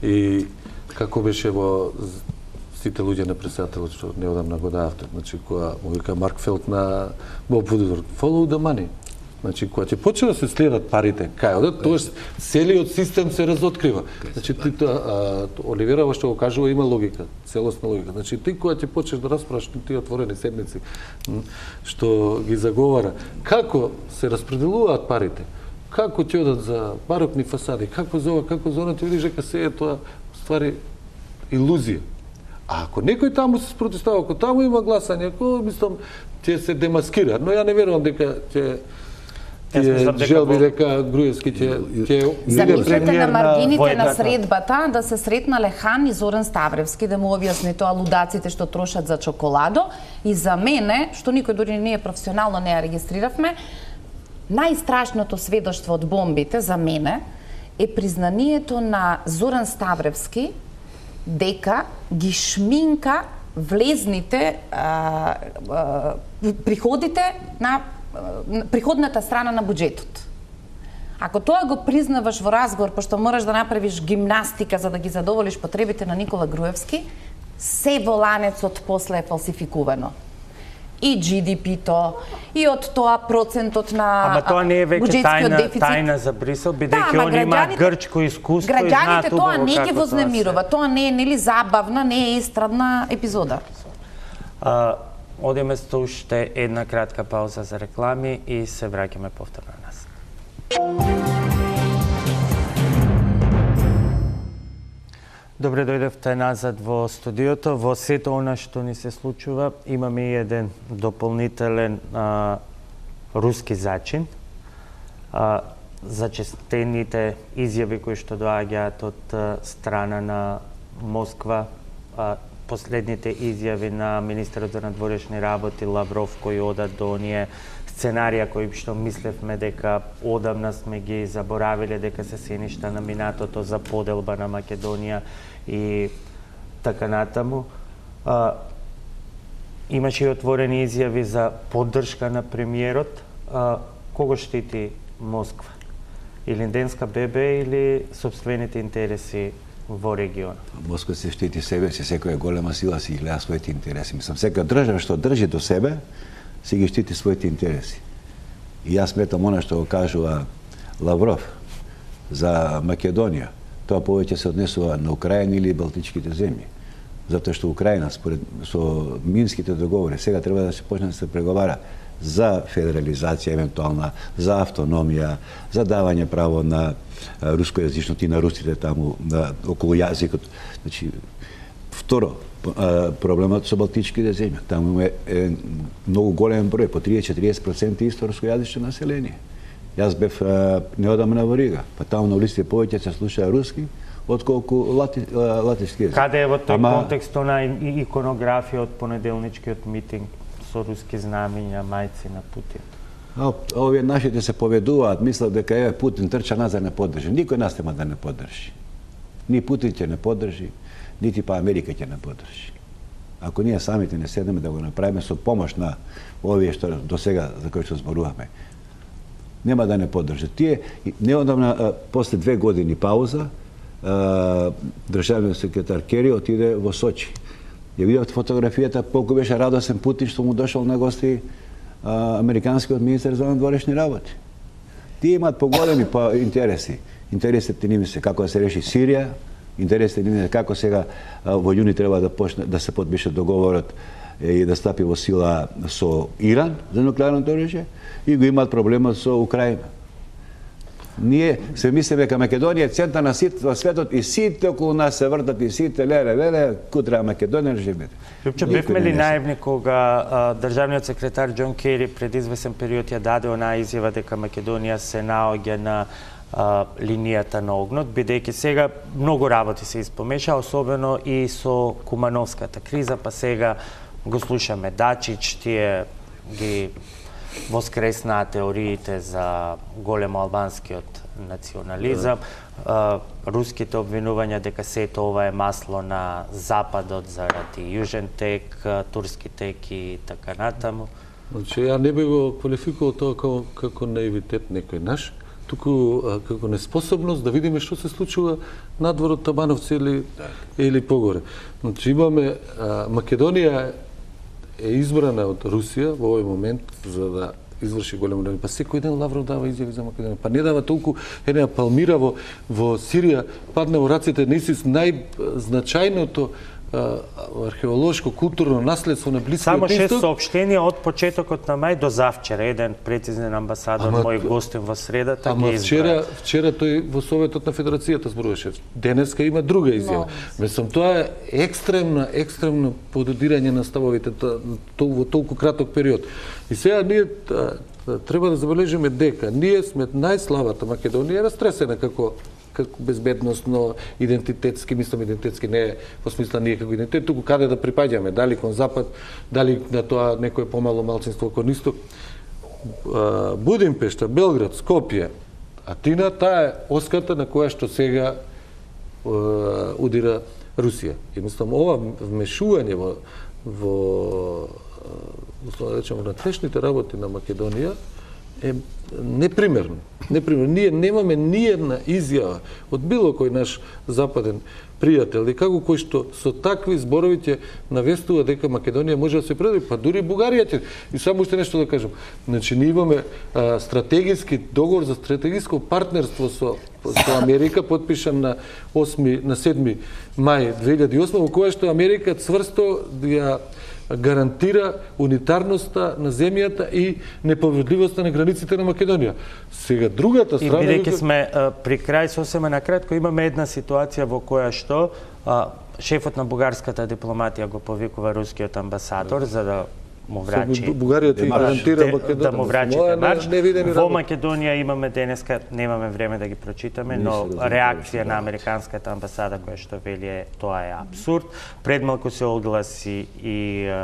И како беше во сите луѓе на председателот што неодамна го давте, значи која му вика Марк Фелд на Боб Вудворд, follow the money. Значи кога ќе почне да се следат парите, кај одат, тоа целиот систем се разоткрива. Значи ти тоа Оливера што го кажува има логика, целосна логика. Значи ти кога ќе почнеш да расправаш тие отворени седници што ги заговара, како се распределуваат парите, како ќе одат за барокни фасади, како за ова, како за она, ти видиш дека се е тоа ствари илузија. А ако некој таму се спротивстава, ако таму има гласање, ако мислам ќе се демаскира, но ја не верувам дека ќе ќе желби дека Груевски ќе ќе Замислете на маргините на средбата да се сретнале Хан и Зоран Ставревски да му објасни тоа лудаците што трошат за чоколадо и за мене, што никој дури ние професионално не ја регистрировме, најстрашното сведоштво од бомбите за мене е признанието на Зоран Ставревски дека ги шминка влезните а, а, приходите на а, приходната страна на буџетот. Ако тоа го признаваш во разговор, пошто мораш да направиш гимнастика за да ги задоволиш потребите на Никола Груевски, се во ланецот после е фалсификувано. И Джи Ди Пи-то, и од тоа процентот на Ама тоа не е веќе тајна, дефицит. тајна за Брисел, бидејќи да, они имаат грчко искуство и знаат убаво тоа не ги како вознемирува, тоа не е нели забавна, не е естрадна епизода. А, одиме со уште една кратка пауза за реклами и се враќаме повторно на нас. Добре дојдевте назад во студиото. Во сето она што ни се случува, имаме и еден дополнителен а, руски зачин. А, зачестените изјави кои што доаѓаат од а, страна на Москва, а, последните изјави на министерот за надворешни работи Лавров кои одат до оние сценарија кои што мислевме дека одамна сме ги заборавиле, дека се сеништа на минатото за поделба на Македонија и така натаму. А, имаше и отворени изјави за поддршка на премиерот. А, кого штити Москва? Или Денска ББ или собствените интереси во регионот? Москва се штити себе си, секоја голема сила си гледа своите интереси. Мислам, секоја држава што држи до себе, си ги штити своите интереси. И јас сметам она што го кажува Лавров за Македонија, тоа повеќе се однесува на Украина или Балтичките земји. Затоа што Украина, според со минските договори, сега треба да се почне да се преговара за федерализација евентуална, за автономија, за давање право на рускојазичност и на русите таму, на, околу јазикот. Значи, второ, проблемот со Балтичките земји. Таму е, е многу голем број, по триесет до четириесет проценти исто рускојазично население. Јас бев неодамна во Рига, па таму на улиците повеќе се слуша руски, отколку лати, латишки език. Каде е во тој Ама... контекст она иконографија од понеделничкиот митинг со руски знамиња, мајци на Путин? А, овие нашите се поведуваат, мислат дека еве Путин трча назад не поддржи. Никој нас нема да не поддржи. Ни Путин ќе не поддржи, нити па Америка ќе не поддржи. Ако ние самите не седнеме да го направиме со помош на овие што до сега за кои што зборуваме, нема да не поддржат. Тие неодамна, после две години пауза, државниот секретар Кери отиде во Сочи. Ја видов фотографијата, колку беше радосен Путин што му дошол на гости а, американскиот министер за надворешни работи. Тие имаат поголеми по интереси. Интересите ними се како да се реши Сирија, интересите ними се како сега а, во јуни треба да почне да се подпише договорот и да стапи во сила со Иран за нуклеарното оружје, и го имаат проблемот со Украина. Ние се мислиме дека Македонија е центар на сите во светот и сите околу нас се вртат и сите леле леле кутра Македонија живеете. Лјупче, бевме ли наивни кога а, државниот секретар Џон Кери пред извесен период ја даде онаа изјава дека Македонија се наоѓа на а, линијата на огнот, бидејќи сега многу работи се испомеша, особено и со Кумановската криза, па сега го слушаме Дачич, тие ги воскреснаа теориите за големо албанскиот национализам, да. Руските обвинувања дека сето ова е масло на Западот заради Јужен тек, турски тек и така натаму. Значи, ја не би го квалификувал тоа како, како наивитет некој наш, туку како неспособност да видиме што се случува надвор од Табановци или, или погоре. Значи, имаме а, Македонија е избрана од Русија во овој момент за да изврши големо дело. Па секој ден Лавров дава изјави за Македонија. Па не дава толку, една Палмира во, во Сирија падна во раците на ИСИС најзначајното археолошко културно наследство на Блискиот Само шест Исток. соопштенија од почетокот на мај до завчера. Еден прецизен амбасадор, ама, мој гостин во средата, ама ги вчера, избра. вчера тој во Советот на Федерацијата зборуваше. Денеска има друга изјава. Мислам, тоа е екстремна, екстремно пододирање на ставовите во толку краток период. И сега ние треба да забележиме дека ние сме најслабата Македонија, растресена како како безбедносно, идентитетски, мислам идентитетски не е во смисла ние како идентитет, туку каде да припаѓаме, дали кон Запад, дали на тоа некое помало малцинство кон Исток. Будимпешта, Белград, Скопје, Атина, таа е оската на која што сега удира Русија. Едноставно ова вмешување во во условно да речеме внатрешните работи на Македонија е непримерно. Непримерно. Ние немаме ни една изјава од било кој наш западен пријател и како кој што со такви зборови ќе навестува дека Македонија може да се предаде, па дури Бугарија ќе. И само уште нешто да кажам. Значи ние имаме а, стратегиски договор за стратегиско партнерство со со Америка подпишан на осми на седми мај две илјади и осма, во која што Америка цврсто ја гарантира унитарноста на земјата и неповредливоста на границите на Македонија. Сега другата страна... И бидејќи сме а, при крај, сосема накратко, имаме една ситуација во која што а, шефот на бугарската дипломатија го повикува рускиот амбасадор за да му врачи Бугарија ти гарантира Македонија да му врачи демарш. Во работи. Македонија имаме денеска, немаме време да ги прочитаме, но реакција на американската амбасада која што вели е тоа е апсурд. Пред малку се огласи и е,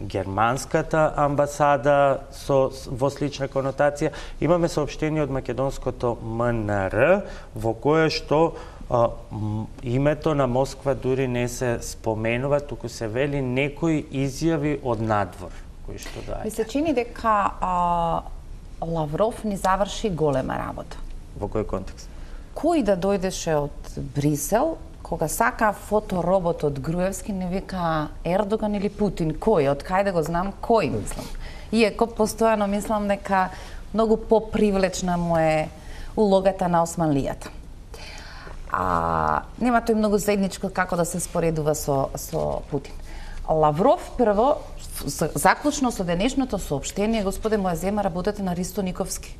германската амбасада со во слична конотација. Имаме соопштение од македонското М Н Р во кое што а, името на Москва дури не се споменува, туку се вели некои изјави од надвор кои што дај. Ми се чини дека а, Лавров ни заврши голема работа. Во кој контекст? Кој да дојдеше од Брисел, кога сака фоторобот од Груевски, не вика Ердоган или Путин, кој, од кај да го знам, кој мислам. Иако постојано мислам дека многу попривлечна му е улогата на османлијата. А нема тој многу заедничко како да се споредува со со Путин. Лавров прво заклучно со денешното соопштение, господе, моја зема работете на Ристо Никовски.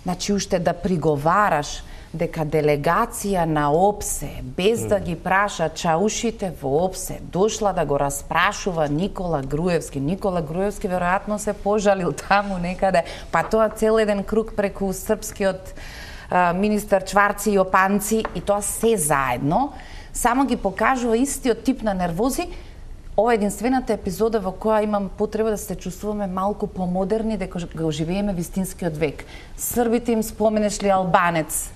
Значи уште да приговараш дека делегација на ОПСЕ, без да ги праша чаушите во ОПСЕ, дошла да го распрашува Никола Груевски. Никола Груевски веројатно се пожалил таму некаде, па тоа цел еден круг преку српскиот а, министар Чварци и Опанци, и тоа се заедно, само ги покажува истиот тип на нервози. Ова е единствената епизода во која имам потреба да се чувствуваме малку помодерни, дека го живееме вистинскиот век. Србите им споменеш ли албанец,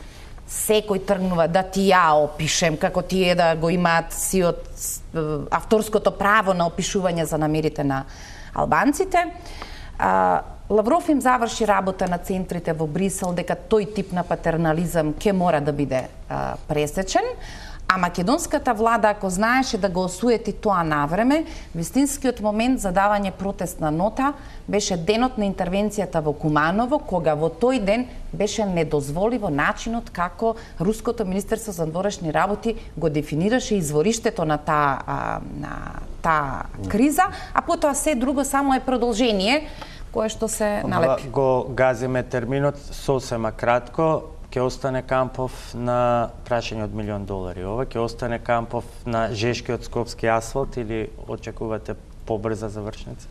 секој тргнува да ти ја опишем, како тие да го имаат си од авторското право на опишување за намерите на албанците. А, Лавров им заврши работа на центрите во Брисел, дека тој тип на патернализам ќе мора да биде а, пресечен. А македонската влада, ако знаеше да го осуети тоа навреме, вистинскиот момент за давање протестна нота беше денот на интервенцијата во Куманово, кога во тој ден беше недозволиво начинот како Руското министерство за надворешни работи го дефинираше извориштето на таа на таа криза, а потоа се друго само е продолжение кое што се налепи. Го газиме терминот сосема кратко. Ќе остане Кампов на прашање од милион долари. Ова ќе остане Кампов на жешкиот скопски асфалт или очекувате побрза завршница?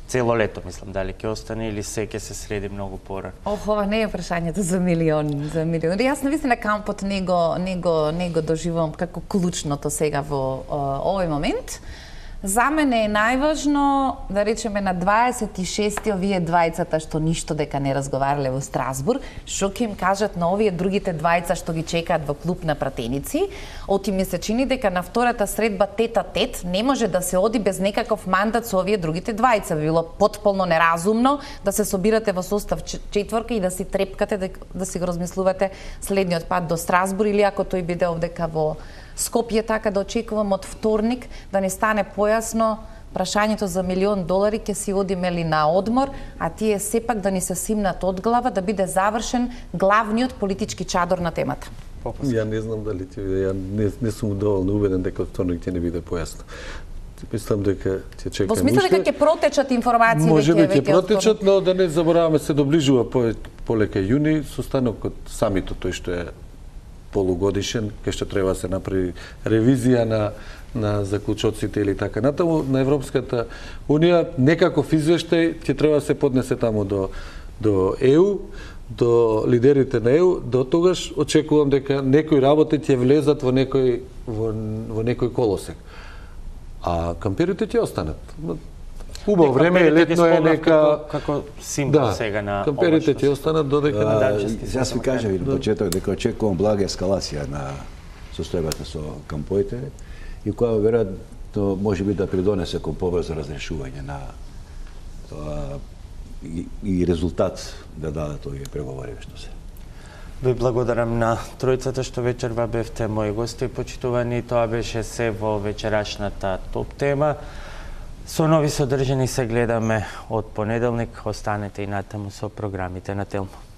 Цело лето, мислам, дали ќе остане или се ќе се среди многу порано? Ох, ова не е прашањето за милион, за милион. Јас навистина Кампот не го не го не го доживувам како клучното сега во о, овој момент. За мене е најважно, да речеме, на дваесет и шести овие двајцата што ништо дека не разговарале во Страсбург, што ќе им кажат на овие другите двајца што ги чекаат во клуб на пратеници. Оти ми се чини дека на втората средба тет-а-тет не може да се оди без некаков мандат со овие другите двајца. Би било потполно неразумно да се собирате во состав четворка и да си трепкате, да, да си го размислувате следниот пат до Страсбург, или ако тој биде овдека во Скопје, така да очекувам од вторник да не стане појасно прашањето за милион долари, ќе си одиме ли на одмор, а тие сепак да ни се симнат од глава, да биде завршен главниот политички чадор на темата. Ја не знам дали ти, ја не, не сум доволно убеден дека вторник ќе не биде појасно. Мислам дека ќе чекаме. Во смисла дека ќе протечат информации веќе може би ќе веќе протечат, но да не забораваме, се доближува по, полека јуни состанокот самитот, тој што е полугодишен, кај што треба се направи ревизија на на заклучоците или така натаму. На Европската унија некаков извештај ќе треба да се поднесе таму до до Е У, до лидерите на Е У. До тогаш очекувам дека некои работи ќе влезат во некој во, во некој колосек. А камперите ќе останат. Убаво време е, летно е, нека како символ да, сега на камперите ќе останат додека Јас ви кажав и на почеток дека очекувам блага ескалација на состојбата со камповите и која веројатно може би да придонесе кон побрзо разрешување на тоа и, и резултат да дадат овие преговори што се. Ви благодарам на тројцата што вечерва бевте мои гости почитувани. Тоа беше се во вечерашната топ тема. Со нови содржини се гледаме од понеделник. Останете и натаму со програмите на Телмо.